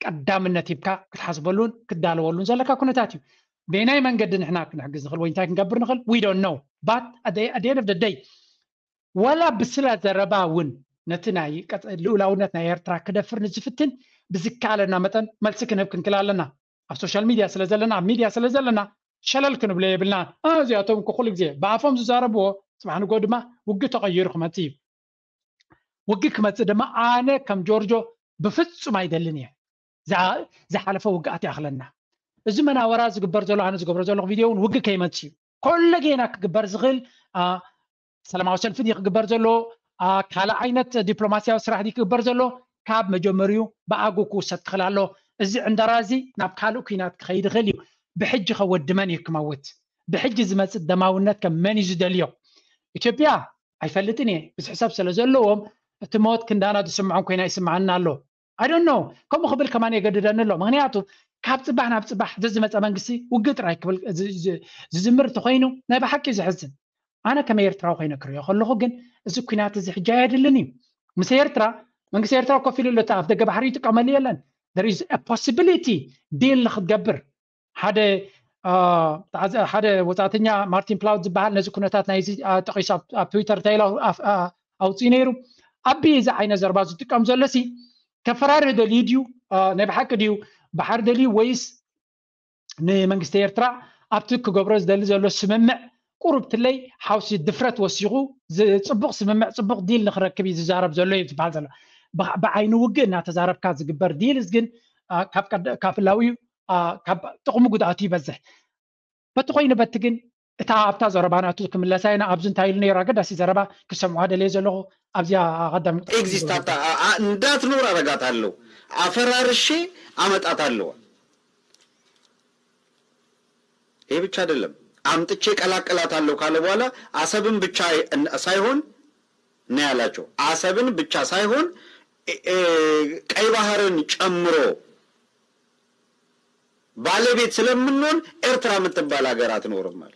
ቀዳምነት ሂብካ ክትሓስበሉን ክትዳለወሉን ዘለካ ኩነታት እዩ። በየናይ መንገዲ ንሕና ክንሕግዝ ንኽእል ወይ እንታይ ክንገብር ንኽእል we don't know but at the end of the day ዋላ ብስላ ዘረባ እውን ነቲ ናይ ልኡላውነት ናይ ኤርትራ ክደፍር ንዝፍትን ብዝከኣለና መጠን መልሲ ክንህብ ክንክእል ኣለና። ኣብ ሶሻል ሚድያ ስለ ዘለና ኣብ ሚድያ ስለ ዘለና ሸለል ክንብሎ የብልና። እዚኣቶም እኮ ኩሉ ግዜ ብኣፎም ዝዛረብዎ ፅባሕ ንጎ ድማ ውግእ ተቐይሩ ክመፅእ እዩ። ውግእ ክመፅእ ድማ ኣነ ከም ጆርጆ ብፍፁም ኣይደልን እየ። ዝሓለፈ ውግኣት ይኣኽለና። እዚ መናወራ ዝግበር ዘሎ ኣነ ዝገብሮ ዘለኹ ቪድዮ እውን ውግእ ከይመፅእ እዩ። ኮለጌና ክግበር ዝኽእል ሰላማዊ ሰልፊ ድዩ ክግበር ዘሎ፣ ካልእ ዓይነት ዲፕሎማስያዊ ስራሕ ድዩ ክግበር ዘሎ፣ ካብ መጀመሪኡ ብኣግኡ ክውሰድ ክኽእል ኣሎ። እዚ ዕንደራ እዚ ናብ ካልእ ኩናት ክኸይድ ይኽእል እዩ። ብሕጂ ከ ወዲ መን እዩ ክመውት? ብሕጂ ዝመጽእ ደማውነት ከ መን እዩ ዝደልዮ? ኢትዮጵያ ኣይፈልጥን እየ፣ ብዙሕ ሰብ ስለ ዘለዎም እቲ ሞት ክንዳና ዝስምዖም ኮይና ይስምዓና ኣሎ። I don't know። ከምኡ ክብል ከማን የገድደኒ ኣሎ። ምክንያቱ ካብ ጽባሕ ናብ ጽባሕ ዘዝመጸ መንግስቲ ውግእ ጥራይ ክብል ዝ- ዝ- ዝዝምር እንተኮይኑ ናይ ብሓቂ ዘሕዝን። ኣነ ከም ኤርትራዊ ኮይነ ክሪኦ ከለኹ ግን እዚ ኩናት እዚ ሕጂ ኣየድልን እዩ። ምስ ኤርትራ መንግስቲ ኤርትራ ኮፍ ኢሉ ኣሎ፣ እቲ ኣፍ ደገ ባሕሪ ይጥቀመሉ የለን። There is a possibility ዲል ንክትገብር ሓደ ሓደ ወጻእተኛ ማርቲን ፕላውት ዝበሃል ነዚ ኩነታት ናይዚ ጠቂሱ ኣብ ትዊተር እንታይ ኢሉ ኣውፅኡ ነይሩ። ኣቢ እዚ ዓይነት ዘረባ ዝጥቀም ዘሎ ሲ ከፈራርህ ደልዩ ድዩ? ናይ ብሓቂ ድዩ ባሕሪ ደልዩ ወይስ ንመንግስቲ ኤርትራ ኣብቲ ክገብሮ ዝደሊ ዘሎ ስምምዕ ቁሩብ ትለይ ሓውሲ ድፍረት ወሲኹ ጽቡቕ ስምምዕ ጽቡቕ ዲል ንክረክብ እዩ ዝዛረብ ዘሎ እዩ ዝበሃል ዘሎ። ብዓይኒ ውግእ እናተዛረብካ ዝግበር ዲልስ ግን ካብ ህላዊ ካብ ጥቕሙ ጉድኣቱ ይበዝሕ። በቲ ኮይኑ በቲ ግን እታ ኣብታ ዘረባ ናቱ ክምለሳ ኢና። ኣብዚ እንታይ ኢሉ ነይሩ ኣገዳሲ ዘረባ ክሰምዖ ደልየ ዘለኹ ኣብዚኣ ቀዳሚ exist እንዳትኖር ኣረጋት ኣለዉ ኣፈራርሼ ኣመጣት ኣለዋ። ይሄ ብቻ አይደለም አምጥቼ ቀላቅላት አለው ካለ በኋላ አሰብን ብቻ ሳይሆን ነው ያላቸው። አሰብን ብቻ ሳይሆን ቀይ ባህርን ጨምሮ ባለቤት ስለምንሆን ኤርትራ የምትባል ሀገር አትኖርም አለ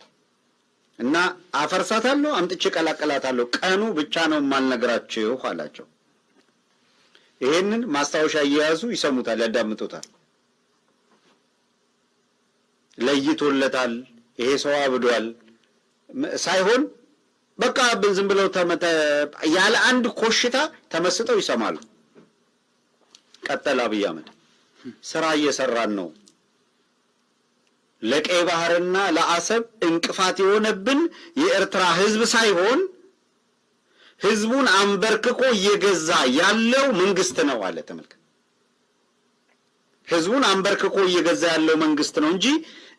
እና አፈርሳታለሁ፣ አምጥቼ ቀላቅላታለሁ፣ ቀኑ ብቻ ነው የማልነግራችሁ አላቸው። ይሄንን ማስታወሻ እየያዙ ይሰሙታል፣ ያዳምጡታል። ለይቶለታል፣ ይሄ ሰው አብዷል ሳይሆን በቃ ዝም ብለው ያለ አንድ ኮሽታ ተመስጠው ይሰማሉ። ቀጠለ አብይ አህመድ ስራ እየሰራን ነው። ለቀይ ባህርና ለአሰብ እንቅፋት የሆነብን የኤርትራ ህዝብ ሳይሆን ህዝቡን አንበርክኮ እየገዛ ያለው መንግስት ነው አለ። ተመልከት፣ ህዝቡን አንበርክኮ እየገዛ ያለው መንግስት ነው እንጂ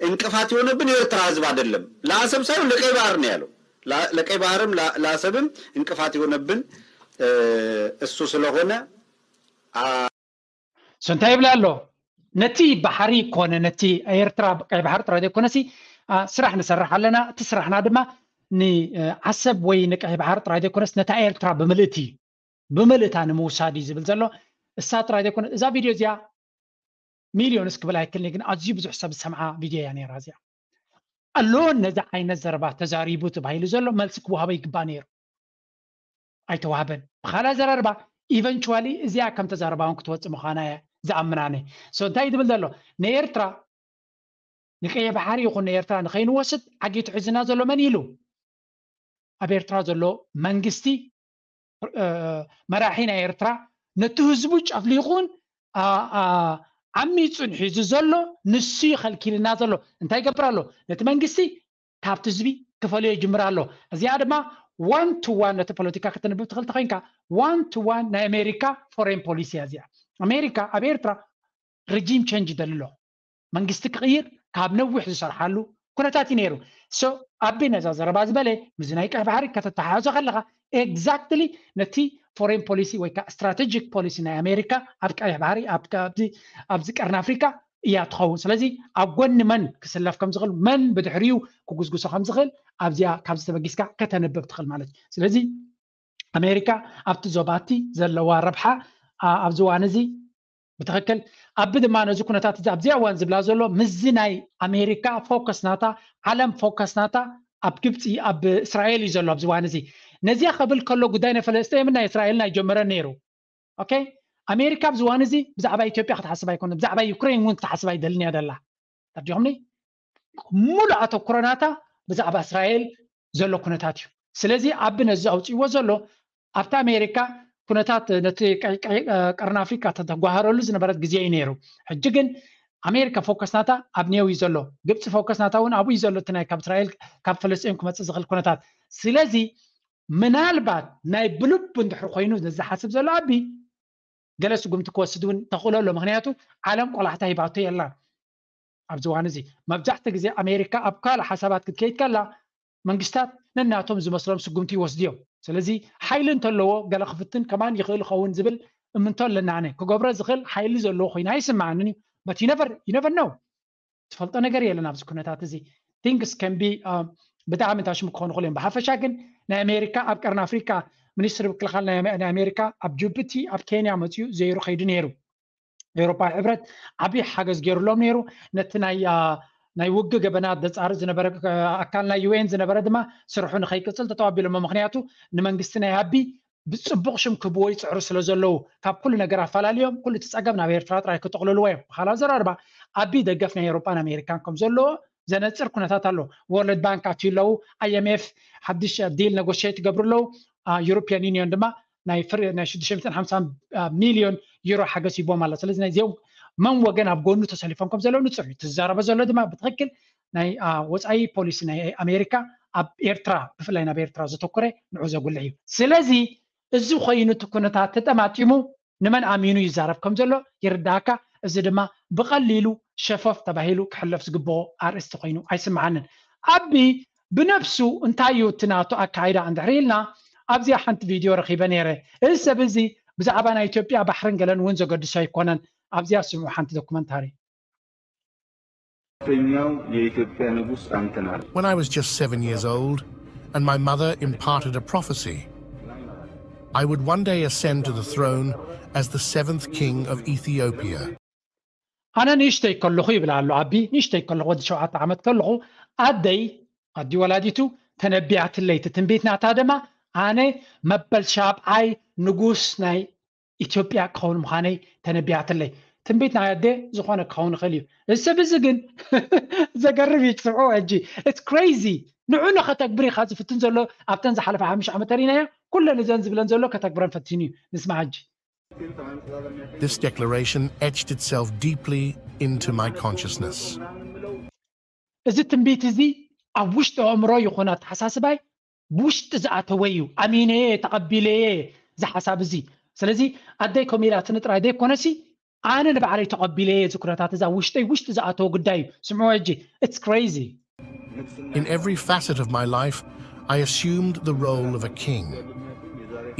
እንቅፋት የሆነብን የኤርትራ ህዝብ አይደለም። ለአሰብ ሳይሆን ለቀይ ባህር ነው ያለው። ለቀይ ባህርም ለአሰብም እንቅፋት የሆነብን እሱ ስለሆነ እንታይ ይብል ኣሎ? ነቲ ባሕሪ ኮነ ነቲ ኤርትራ ቀይ ባሕሪ ጥራይ ዘይኮነሲ ስራሕ ንሰርሕ ኣለና። እቲ ስራሕና ድማ ንዓሰብ ወይ ንቀይ ባሕሪ ጥራይ ዘይኮነስ ነታ ኤርትራ ብምልእቲ እዩ ብምልእታ ንምውሳድ እዩ ዝብል ዘሎ። እሳ ጥራይ ዘይኮነ እዛ ቪድዮ እዚኣ ሚልዮንስ ክብል ኣይክልኒ ግን ኣዝዩ ብዙሕ ሰብ ዝሰምዓ ቪድዮ እያ ነይራ እዚኣ። ኣሎ ነዚ ዓይነት ዘረባ ተዛሪቡ ተባሂሉ ዘሎ መልሲ ክወሃቦ ይግባእ ነይሩ። ኣይተዋህበን። ብኻልእ ኣዘራርባ eventually እዚኣ ከም ተዛረባ እውን ክትወፅእ ምዃና እየ ዝኣምን ኣነ። So እንታይ እዩ ዝብል ዘሎ? ንኤርትራ ንቀይሕ ባሕሪ ይኹን ንኤርትራ ንኸይንወስድ ዓጊቱ ሒዝና ዘሎ መን ኢሉ? ኣብ ኤርትራ ዘሎ መንግስቲ መራሒ ናይ ኤርትራ ነቲ ህዝቡ ጨፍሊቑን ዓሚፁን ሒዙ ዘሎ ንሱ ይኸልኪልና ዘሎ እንታይ ይገብር ኣሎ? ነቲ መንግስቲ ካብቲ ህዝቢ ክፈልዮ ይጅምር ኣሎ። እዚኣ ድማ one to one ነቲ ፖለቲካ ከተንብብ ትኽእል ተኮይንካ one to one ናይ ኣሜሪካ foreign policy እያ እዚኣ። ኣሜሪካ ኣብ ኤርትራ regime change ይደሊ ኣሎ። መንግስቲ ክቕይር ካብ ነዊሕ ዝሰርሓሉ ኩነታት እዩ ነይሩ። So ኣቢ ነዛ ዘረባ ዝበለ ምስዚ ናይ ቀይ ባሕሪ ከተተሓሕዞ ከለኻ exactly ነቲ foreign policy ወይ ከዓ strategic policy ናይ ኣሜሪካ ኣብ ቀይሕ ባሕሪ ኣብዚ ቀርኒ ኣፍሪካ እያ ትኸውን። ስለዚ ኣብ ጎኒ መን ክስለፍ ከም ዝኽእል መን ብድሕሪኡ ክጉስጉሶ ከም ዝኽእል ኣብዚኣ ካብዚ ተበጊስካ ከተንብብ ትኽእል ማለት እዩ። ስለዚ ኣሜሪካ ኣብቲ ዞባቲ ዘለዋ ረብሓ ኣብዚ እዋን እዚ ብትኽክል ኣቢ ድማ ነዚ ኩነታት እዚ ኣብዚኣ እዋን ዝብላ ዘሎ ምስዚ ናይ ኣሜሪካ ፎከስ ናታ ዓለም ፎከስ ናታ ኣብ ግብፂ ኣብ እስራኤል እዩ ዘሎ ኣብዚ እዋን እዚ። ነዚኣ ከብል ከሎ ጉዳይ ናይ ፈለስጤምን ናይ እስራኤልን ኣይጀመረን ነይሩ። ኦኬ ኣሜሪካ ኣብዚ እዋን እዚ ብዛዕባ ኢትዮጵያ ክትሓስብ ኣይኮነ ብዛዕባ ዩክሬን እውን ክትሓስብ ኣይደልን እያ ደላ። ተርዲኹምኒ? ሙሉእ ኣተኩሮ ናታ ብዛዕባ እስራኤል ዘሎ ኩነታት እዩ። ስለዚ ኣቢ ነዚ ኣውፅእዎ ዘሎ ኣብቲ ኣሜሪካ ኩነታት ነቲ ቀርኒ ኣፍሪካ ተተጓሃረሉ ዝነበረት ግዜ እዩ ነይሩ። ሕጂ ግን ኣሜሪካ ፎከስ ናታ ኣብ ኔው እዩ ዘሎ። ግብፂ ፎከስ ናታ እውን ኣብኡ እዩ ዘሎ። እቲ ናይ ካብ እስራኤል ካብ ፈለስጢን ክመፅእ ዝኽእል ኩነታት። ስለዚ ምናልባት ናይ ብልቡ እንድሕር ኮይኑ ዝሓስብ ዘሎ ኣቢ ገለ ስጉምቲ ክወስድ እውን ተኽእሎ ኣሎ። ምክንያቱ ዓለም ቆላሕታ ሂባቶ የላን። ኣብዚ እዋን እዚ መብዛሕትኡ ግዜ ኣሜሪካ ኣብ ካልእ ሓሳባት ክትከይድ ከላ መንግስታት ነናቶም ዝመስሎም ስጉምቲ ይወስዱ እዮም። ስለዚ ሓይሊ እንተለዎ ገለ ክፍትን ከማን ይኽእል ኸውን ዝብል እምንቶ ኣለና። ኣነ ክገብሮ ዝኽእል ሓይሊ ዘለዎ ኮይኑ ኣይስምዓንን እዩ። but you never you never know ትፈልጦ ነገር የለን ኣብዚ ኩነታት እዚ things can be ብጣዕሚ እንታሽሙ ክኾኑ ክእሉ እዮም ብሓፈሻ ግን ናይ ኣሜሪካ ኣብ ቀርኒ ኣፍሪካ ሚኒስትሪ ምክልኻል ናይ ኣሜሪካ ኣብ ጅቡቲ ኣብ ኬንያ መፅኡ ዘይሩ ከይዱ ነይሩ ኤውሮፓዊ ሕብረት ዓብዪ ሓገዝ ገይሩሎም ነይሩ ነቲ ናይ ናይ ውግ ገበናት ዘፃርእ ዝነበረ ኣካል ናይ ዩኤን ዝነበረ ድማ ስርሑ ንኸይቅፅል ተተባቢሎሞ ምክንያቱ ንመንግስቲ ናይ ኣቢ ብፅቡቕ ሽም ክህብዎ ይፅዕሩ ስለ ዘለዉ ካብ ኩሉ ነገር ኣፈላልዮም ኩሉ እቲ ፀገም ናብ ኤርትራ ጥራይ ክጥቕልልዎ እዮም ብካልኣዊ ዘራርባ ኣቢ ደገፍ ናይ ኤውሮፓን ኣሜሪካን ከም ዘለዎ ዘነፅር ኩነታት ኣሎ ወርልድ ባንክ ኣትዩ ኣለዉ ኣይኤምኤፍ ሓድሽ ዲል ነጎሽት ይገብሩ ኣለዉ ዩሮፒያን ዩኒዮን ድማ ናይ ናይ ሽዱሽተ ሚእትን ሓምሳን ሚልዮን ዩሮ ሓገዝ ሂቦም ኣሎ ስለዚ ናይዚኦም መን ወገን ኣብ ጎኑ ተሰሊፎም ከም ዘለዉ ንፅር እዩ ትዛረበ ዘሎ ድማ ብትክክል ናይ ወፃኢ ፖሊሲ ናይ ኣሜሪካ ኣብ ኤርትራ ብፍላይ ናብ ኤርትራ ዘተኮረ ንዑ ዘጉልሕ እዩ ስለዚ እዚ ኮይኑ እቲ ኩነታት ተጠማጢሙ ንመን ኣሚኑ ይዛረብ ከም ዘሎ ይርዳእካ እዚ ድማ ብቐሊሉ ሸፈፍ ተባሂሉ ክሕለፍ ዝግብኦ ኣርእስቲ ኮይኑ ኣይስምዓንን ኣቢ ብነብሱ እንታይ እዩ እቲ ናቱ ኣካይዳ እንድሕር ኢልና ኣብዚኣ ሓንቲ ቪድዮ ረኺበ ነይረ እዚ ሰብ እዚ ብዛዕባ ናይ ኢትዮጵያ ባሕርን ገለን እውን ዘገድሶ ኣይኮነን ኣብዚኣ ስምዑ ሓንቲ ዶኩመንታሪ ኛው የኢትዮጵያ ንጉስ አንተናል When I was just seven years old, and my mother imparted a prophecy. I would one day ascend to the throne as the seventh king of Ethiopia. ኣነ ንእሽተይ ከለኹ ይብል ኣሎ ኣቢ ንእሽተይ ከለኹ ወዲ ሸውዓተ ዓመት ከለኹ ኣደይ ኣዲ ወላዲቱ ተነቢያትለይ እቲ ትንቢት ናታ ድማ ኣነ መበል ሻብዓይ ንጉስ ናይ ኢትዮጵያ ክኸውን ምዃነይ ተነቢያትለይ ትንቢት ናይ ኣደ ዝኾነ ክኸውን ይኽእል እዩ እዚ ሰብ እዚ ግን ዘገርም እዩ ትስምዑ ሕጂ it's crazy ንዑ ንኸተግብር ኢኻ ዝፍትን ዘሎ ኣብተን ዝሓለፈ ሓሙሽተ ዓመት ተሪናዮ ኩለን እዘን ዝብለን ዘሎ ከተግብረን ፈቲኑ እዩ ንስማ ሕጂ This declaration etched itself deeply into my consciousness. እዚ ትንቢት እዚ ኣብ ውሽጢ ኣእምሮ ይኹን ኣተሓሳስባይ ብውሽጢ ዝኣተወ እዩ ኣሚነየ ተቐቢለየ እዚ ሓሳብ እዚ ስለዚ ኣደይ ከምኡ ኢላትኒ ጥራይ ዘይኮነሲ ኣነ ንባዕለይ ተቐቢለየ እዚ ኩነታት እዛ ውሽጠይ ውሽጢ ዝኣተወ ጉዳይ እዩ ስምዑ ሕጂ it's crazy In every facet of my life, I assumed the role of a king.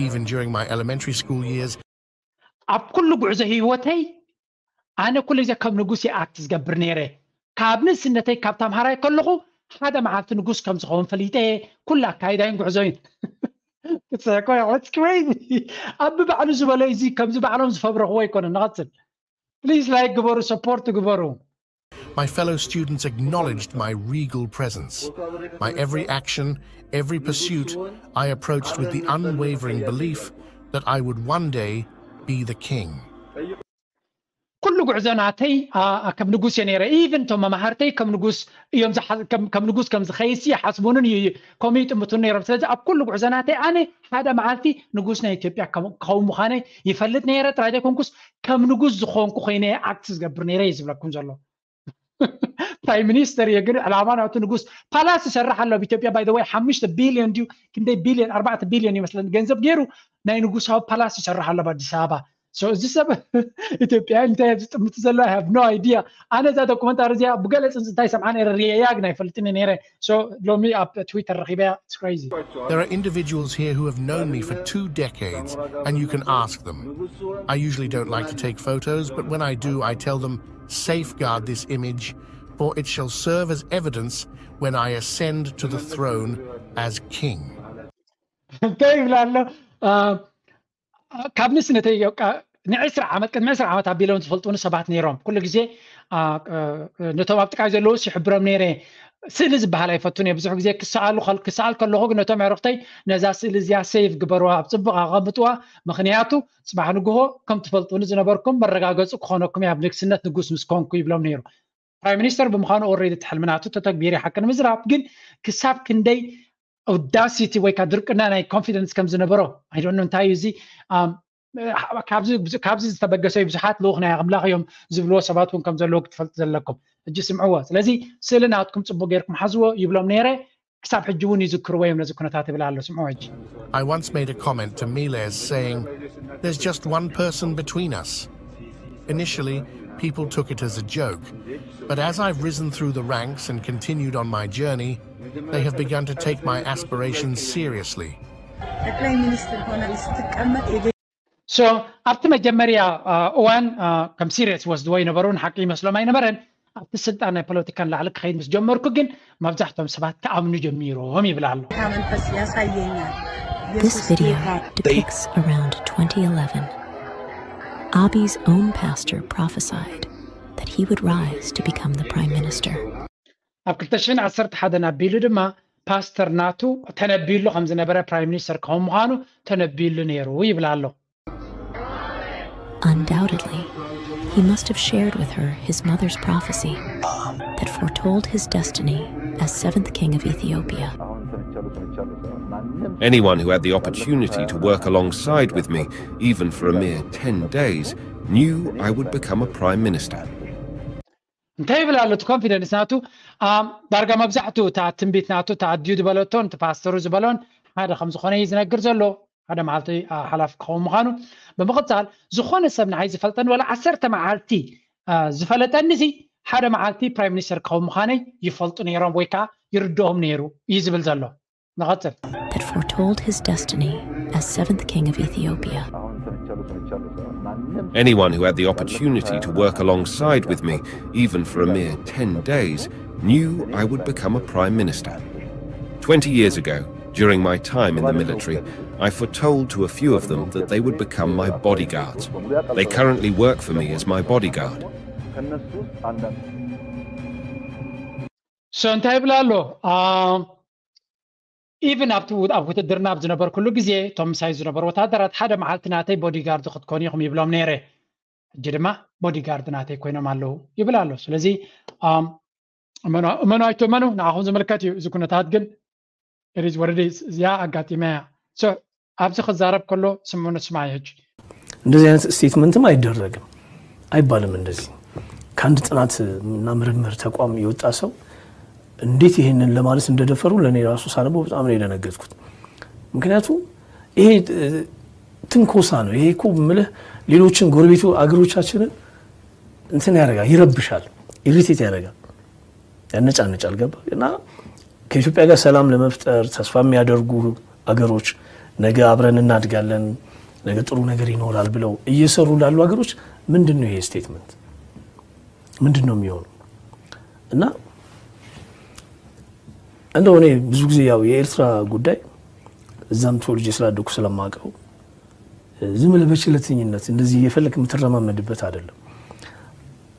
Even during my elementary school years, ኣብ ኩሉ ጉዕዞ ህይወተይ ኣነ ኩሉ ግዜ ከም ንጉስ ይኣክት ዝገብር ነይረ ካብ ንእስነተይ ካብ ተምሃራይ ከለኹ ሓደ መዓልቲ ንጉስ ከም ዝኸውን ፈሊጠ ኩሉ ኣካይዳይን ጉዕዞይን ክትስሕቆ ኣብ ባዕሉ ዝበሎ እዚ ከምዚ ባዕሎም ዝፈብረኽዎ ኣይኮነ ንቐፅል please like ግበሩ support ግበሩ my fellow students acknowledged my regal presence. My every action, every pursuit, I approached with the unwavering belief that I would one day be the king. ኩሉ ጉዕዞ ናተይ ከም ንጉስ እየ ነይረ even እቶም መማህርተይ ከም ንጉስ እዮም ከም ንጉስ ከም ዝኸይሲ ይሓስቡንን እዩ ከምኡ ይጥምቱን ነይሮም ስለዚ ኣብ ኩሉ ጉዕዞ ናተይ ኣነ ሓደ መዓልቲ ንጉስ ናይ ኢትዮጵያ ክኸውን ምዃነይ ይፈልጥ ነይረ ጥራይ ዘይኮንኩስ ከም ንጉስ ዝኾንኩ ኮይነ ኣክት ዝገብር ነይረ እዩ ዝብለኩም ዘሎ ፕራይም ሚኒስተር እየ ግን ዕላማ ናቱ ንጉስ ፓላስ ይሰርሕ ኣሎ ኣብ ኢትዮጵያ ባይ ወይ ሓሙሽተ ቢልዮን ድዩ ክንደይ ቢልዮን ኣርባዕተ ቢልዮን ይመስለኒ ገንዘብ ገይሩ ናይ ንጉሳዊ ፓላስ ይሰርሕ ኣሎ ኣብ ኣዲስ ኣበባ እዚ ሰብ ኢትዮጵያ እንታይ ዝጥምት ዘሎ I have no idea ኣነ እዛ ዶኩመንታሪ እዚኣ ብገለ ፅንፅታይ ሰምዓ ነረ ሪያ ግን ኣይፈልጥኒ ነረ ሎሚ ኣብ ትዊተር ረኪበያ crazy There are individuals here who have known me for two decades, and you can ask them. I usually don't like to take photos, but when I do, I tell them, safeguard this image, for it shall serve as evidence when I ascend to the throne as king. እንታይ ይብል ኣሎ ካብ ንስነተይ ንዕስራ ዓመት ቅድሚ ዕስራ ዓመት ኣቢሎም ዝፈልጡኒ ሰባት ነይሮም ኩሉ ግዜ ነቶም ኣብ ጥቃይ ዘለውስ ይሕብሮም ነይረ ስእሊ ዝበሃል ኣይፈቱን እየ ብዙሕ ግዜ ክሰኣሉ ክሰኣል ከለኹ ግን ነቶም ዕርክተይ ነዛ ስእሊ እዚኣ ሴቭ ግበርዋ ኣብ ፅቡቅ ኣቐምጥዋ ምክንያቱ ፅባሕ ንግሆ ከም ትፈልጡኒ ዝነበርኩም መረጋገፂ ክኾነኩም ኣብ ንግስነት ንጉስ ምስ ኮንኩ ይብሎም ነይሩ ፕራይም ሚኒስተር ብምዃኑ ኦሬዲ እቲ ሕልሚ ናቱ ተተግቢሩ ሓቂ ንምዝራብ ግን ክሳብ ክንደይ ኦዳሲቲ ወይ ከዓ ድርቅና ናይ ኮንፊደንስ ከም ዝነበሮ ኣይዶኖ እንታይ እዩ እዚ ካብዚ ዝተበገሰ ብዙሓት ልኡኽ ናይ ኣምላኽ እዮም ዝብልዎ ሰባት እውን ከም ዘለዉ ክትፈልጡ ዘለኩም ሕጂ ስምዕዎ ስለዚ ስእሊ ናትኩም ፅቡቅ ገይርኩም ሓዝዎ ይብሎም ነይረ ክሳብ ሕጂ እውን ይዝክርዎ እዮም ነዚ ኩነታት ይብል ኣሎ ስምዕዎ ሕጂ I once made a comment to Miles saying, there's just one person between us. Initially, people took it as a joke, but as I've risen through the ranks and continued on my journey, they have begun to take my aspirations seriously. ጠቅላይ ሚኒስትር ሆነ ስትቀመጥ so ኣብቲ መጀመርያ እዋን ከም serious ወስድዎ ይነበሩ፣ ንሓቂ ይመስሎም ኣይነበረን። ኣብቲ ስልጣን ናይ ፖለቲካን ላዕሊ ክኸይድ ምስ ጀመርኩ ግን መብዛሕቶም ሰባት ክኣምኑ ጀሚሮም ይብል ኣሎ። This video depicts around twenty eleven. Abi's own pastor prophesied that he would rise to become the prime minister. ኣብ ክልተ ሽሕን ዓሰርተ ሓደን ኣቢሉ ድማ ፓስተር ናቱ ተነቢሉ ከም ዝነበረ ፕራይም ሚኒስተር ከም ምዃኑ ተነቢሉ ነይሩ ይብል ኣሎ። Undoubtedly, he must have shared with her his mother's prophecy that foretold his destiny as seventh king of Ethiopia. Anyone who had the opportunity to work alongside with me, even for a mere ten days, knew I would become a prime minister. እንታይ ይብል ኣሎ እቲ ኮንፊደንስ ናቱ? ዳርጋ መብዛሕትኡ እታ ትንቢት ናቱ፣ እታ ኣድዩ ዝበለቶን እቲ ፓስተሩ ዝበሎን ሓደ ከም ዝኾነ እዩ ዝነግር ዘሎ። ሓደ መዓልቲ ሓላፊ ክኸውን ምዃኑ። ብምቕፃል ዝኾነ ሰብ ንዓይ ዝፈልጠኒ ወላ ዓሰርተ መዓልቲ ዝፈለጠኒ ሲ ሓደ መዓልቲ ፕራይም ሚኒስተር ክኸውን ምዃነይ ይፈልጡ ነይሮም ወይ ከዓ ይርድኦም ነይሩ እዩ ዝብል ዘሎ። ንቐፅል። That foretold his destiny as seventh king of Ethiopia. Anyone who had the opportunity to work alongside with me, even for a mere ten days, knew I would become a prime minister. Twenty years ago, during my time in the military, I foretold to a few of them that they would become my bodyguards. They currently work for me as my bodyguard. So እንታይ ይብል ኣሎ? ኢቭን ኣብቲ ኣብ ውትድርና ኣብ ዝነበርኩሉ ግዜ እቶም ምሳይ ዝነበሩ ወታደራት ሓደ መዓልቲ ናተይ ቦዲጋርድ ክትኮኑ ኢኹም ይብሎም ነይረ። ሕጂ ድማ ቦዲጋርድ ናተይ ኮይኖም ኣለዉ ይብል ኣሎ። ስለዚ እመኑ ኣይትመኑ ንዓኹም ዝምልከት እዩ። እዚ ኩነታት ግን ሪዝ ወረዲ እዚኣ ኣጋጢመያ። ኣብዚ ክዛረብ ከሎ ስምዑ ንስማዕ ሕጂ። እንደዚህ አይነት ስቴትመንትም አይደረግም አይባልም። እንደዚህ ከአንድ ጥናት እና ምርምር ተቋም የወጣ ሰው እንዴት ይህንን ለማለት እንደደፈሩ ለእኔ ራሱ ሳነበው በጣም ነው የደነገጥኩት። ምክንያቱም ይሄ ትንኮሳ ነው። ይሄ እኮ ምልህ ሌሎችን ጎረቤቱ አገሮቻችንን እንትን ያደርጋል፣ ይረብሻል፣ ኢሪቴት ያደርጋል፣ ያነጫነጫል። ገባ እና ከኢትዮጵያ ጋር ሰላም ለመፍጠር ተስፋ የሚያደርጉ አገሮች ነገ አብረን እናድጋለን፣ ነገ ጥሩ ነገር ይኖራል ብለው እየሰሩ ላሉ አገሮች ምንድን ነው ይሄ ስቴትመንት? ምንድን ነው የሚሆነው? እና እንደው እኔ ብዙ ጊዜ ያው የኤርትራ ጉዳይ እዛም ተወልጄ ስላደኩ ስለማውቀው ዝም ብለህ በችለተኝነት እንደዚህ እየፈለክ የምትረማመድበት አይደለም።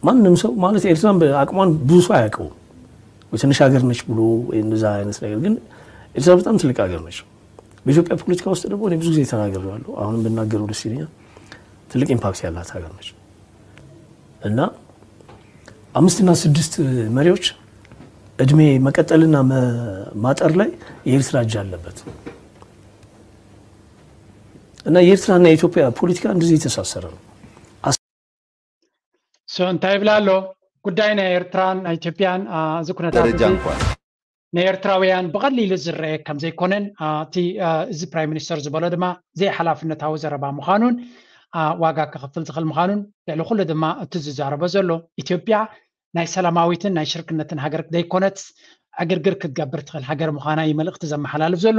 ማንም ሰው ማለት ኤርትራን በአቅሟን ብዙ ሰው አያውቀውም። ትንሽ ሀገር ነች ብሎ ወይ እንደዛ አይነት ነገር፣ ግን ኤርትራ በጣም ትልቅ ሀገር ነች። በኢትዮጵያ ፖለቲካ ውስጥ ደግሞ እኔ ብዙ ጊዜ ተናግሬያለሁ። አሁንም ብናገረው ደስ ይለኛል። ትልቅ ኢምፓክት ያላት ሀገር ነች እና አምስትና ስድስት መሪዎች እድሜ መቀጠልና ማጠር ላይ የኤርትራ እጅ አለበት እና የኤርትራና የኢትዮጵያ ፖለቲካ እንደዚህ የተሳሰረ ነው። እንታይ ይብላ ኣሎ? ጉዳይ ናይ ኤርትራን ናይ ኢትዮጵያን እዚ ኩነታት ደረጃ እንኳን ንኤርትራውያን ብቐሊሉ ዝረአ ከም ዘይኮነን እቲ እዚ ፕራይም ሚኒስተር ዝበሎ ድማ ዘይሓላፍነታዊ ዘረባ ምዃኑን ዋጋ ክኸፍል ዝኽእል ምዃኑን ልዕሊ ኩሉ ድማ እቲ ዝዛረቦ ዘሎ ኢትዮጵያ ናይ ሰላማዊትን ናይ ሽርክነትን ሃገር ዘይኮነትስ ዕግርግር ክትገብር ትኽእል ሃገር ምዃና እዩ መልእኽቲ ዘመሓላልፍ ዘሎ።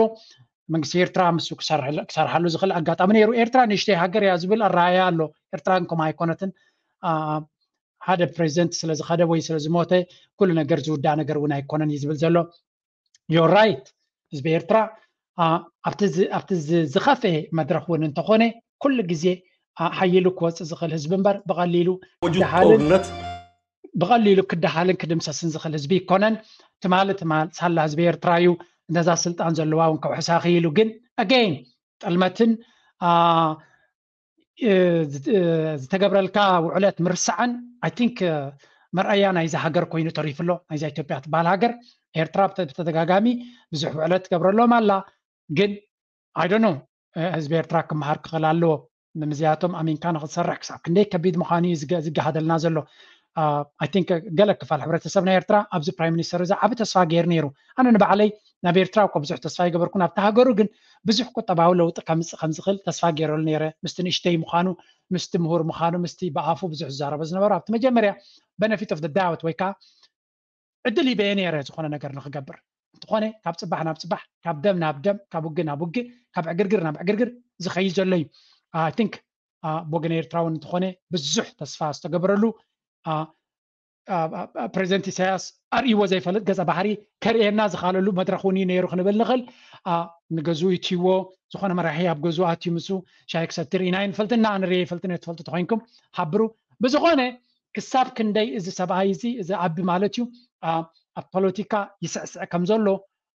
መንግስቲ ኤርትራ ምስ ክሰርሓሉ ዝኽእል ኣጋጣሚ ነይሩ። ኤርትራ ንእሽተይ ሃገር እያ ዝብል ኣረኣእያ ኣሎ። ኤርትራ ከምኡ ኣይኮነትን። ሓደ ፕሬዚደንት ስለ ዝኸደ ወይ ስለ ዝሞተ ኩሉ ነገር ዝውዳእ ነገር እውን ኣይኮነን እዩ ዝብል ዘሎ። You're right። ህዝቢ ኤርትራ ኣብቲ ዝኸፍኤ መድረኽ እውን እንተኾነ ኩሉ ግዜ ሓይሉ ክወፅእ ዝኽእል ህዝቢ እምበር ብቐሊሉ ክደሃልን ብቐሊሉ ክደሃልን ክድምሰስን ዝኽእል ህዝቢ ይኮነን። ትማሊ ትማል ሳላ ህዝቢ ኤርትራ እዩ ነዛ ስልጣን ዘለዋ እውን ከውሕሳ ክኢሉ። ግን ኣገይን ጥልመትን ዝተገብረልካ ውዕለት ምርሳዕን ኣይ ቲንክ መርኣያ ናይዚ ሃገር ኮይኑ ተሪፉ ኣሎ። ናይዛ ኢትዮጵያ ትበሃል ሃገር ኤርትራ ብተደጋጋሚ ብዙሕ ውዕለት ትገብረሎም ኣላ። ግን ኣይ ዶንት ኖ ህዝቢ ኤርትራ ክመሃር ክኽእል ኣለዎ። ንምዝያቶም ኣሚንካ ንክትሰርሕ ክሳብ ክንደይ ከቢድ ምዃኑ እዩ ዝገሃደልና ዘሎ። ኣይ ቲንክ ገለ ክፋል ሕብረተሰብ ናይ ኤርትራ ኣብዚ ፕራይም ሚኒስተር እዚ ዓቢ ተስፋ ገይሩ ነይሩ። ኣነ ንባዕለይ ናብ ኤርትራ እኮ ብዙሕ ተስፋ ይገበርኩን ኣብቲ ሃገሩ ግን ብዙሕ ቁጠባዊ ለውጢ ከምፅእ ከም ዝኽእል ተስፋ ገይረሉ ነይረ። ምስቲ ንእሽተይ ምዃኑ፣ ምስቲ ምሁር ምዃኑ፣ ምስቲ ብኣፉ ብዙሕ ዝዛረቦ ዝነበሩ ኣብቲ መጀመርያ benefit of the doubt ወይ ከዓ ዕድል ይበየ ነይረ ዝኾነ ነገር ንክገብር። እንተኾነ ካብ ፅባሕ ናብ ፅባሕ፣ ካብ ደም ናብ ደም፣ ካብ ውግእ ናብ ውግእ፣ ካብ ዕግርግር ናብ ዕግርግር ዝኸይድ ዘሎ እዩ። ኣይ ቲንክ ብወገን ኤርትራውን እንተኾነ ብዙሕ ተስፋ ዝተገበረሉ ፕሬዚደንት ኢሳያስ ኣርእይዎ ዘይፈልጥ ገጸ ባህሪ ከርእየና ዝኻለሉ መድረኽ እውን እዩ ነይሩ ክንብል ንኽእል። ንገዝኡ ይትይዎ ዝኾነ መራሒ ኣብ ገዝኡ ኣትዩ ምስኡ ሻይ ክሰቲ ርኢና ኣይንፈልጥና። ኣነ ርእየ ይፈልጥን ትፈልጡ ተኮይንኩም ሓብሩ። ብዝኾነ ክሳብ ክንደይ እዚ ሰብኣይ እዚ እዚ ኣቢ ማለት እዩ ኣብ ፖለቲካ ይስዕስዕ ከም ዘሎ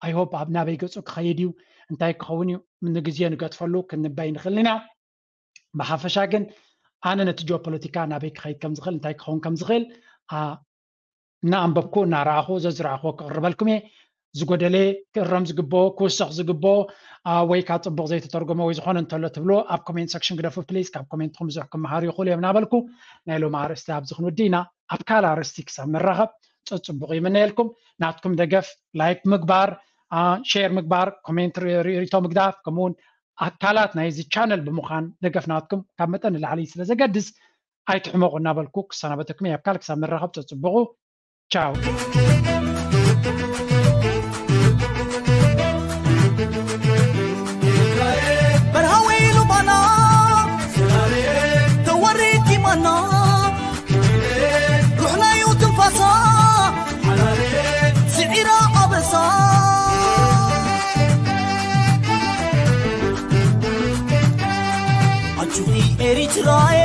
ኣይሆፕ ኣብ ናበይ ገጹ ክኸይድ እዩ እንታይ ክኸውን እዩ ንግዜ ንገጥፈሉ ክንበይ ንኽእል ኢና። ብሓፈሻ ግን ኣነ ነቲ ጂኦፖለቲካ ናበይ ክኸይድ ከም ዝኽእል እንታይ ክኸውን ከም ዝኽእል እናኣንበብኩ እናረኣኹ ዘዝረኣኹዎ ክቕርበልኩም እየ። ዝጎደለ ክእረም ዝግብኦ ክውሰኽ ዝግብኦ ወይ ካብ ፅቡቕ ዘይተተርጎመ ወይ ዝኾነ እንተሎ ትብልዎ ኣብ ኮሜንት ሰክሽን ግደፉ ፕሊዝ። ካብ ኮሜንትኩም ብዙሕ ክመሃሩ ይኽእሉ እዮም እናበልኩ ናይ ሎሚ ኣርእስቲ ኣብዚ ክንውዲ ኢና። ኣብ ካልእ ኣርእስቲ ክሳብ ንራኸብ ፀፅቡቕ ይምነየልኩም። ናትኩም ደገፍ ላይክ ምግባር፣ ሼር ምግባር፣ ኮሜንት ሪቶ ምግዳፍ ከምኡውን ኣካላት ናይዚ ቻነል ብምዃን ደገፍ ናትኩም ካብ መጠን ንላዕሊ ስለ ዘገድስ ኣይትሕመቑ እናበልኩ ክሰናበተኩም እየ። ኣብ ካልእ ክሳብ ንራኸብ ፀፅቡቑ ቻው። በርሃ ወይሉ ባና ተወሪድ ይማና ሩሕናዩ ትንፋሳ ስዒራ ኣበሳ ኣጁኺ ኤሪትራየ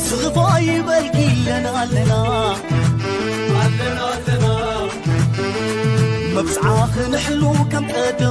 ስኽፋ ይበልኪ ኣለና ኣለና ኣለና ኣለና መብጽዓ ክንሕሉ ከም ቀደም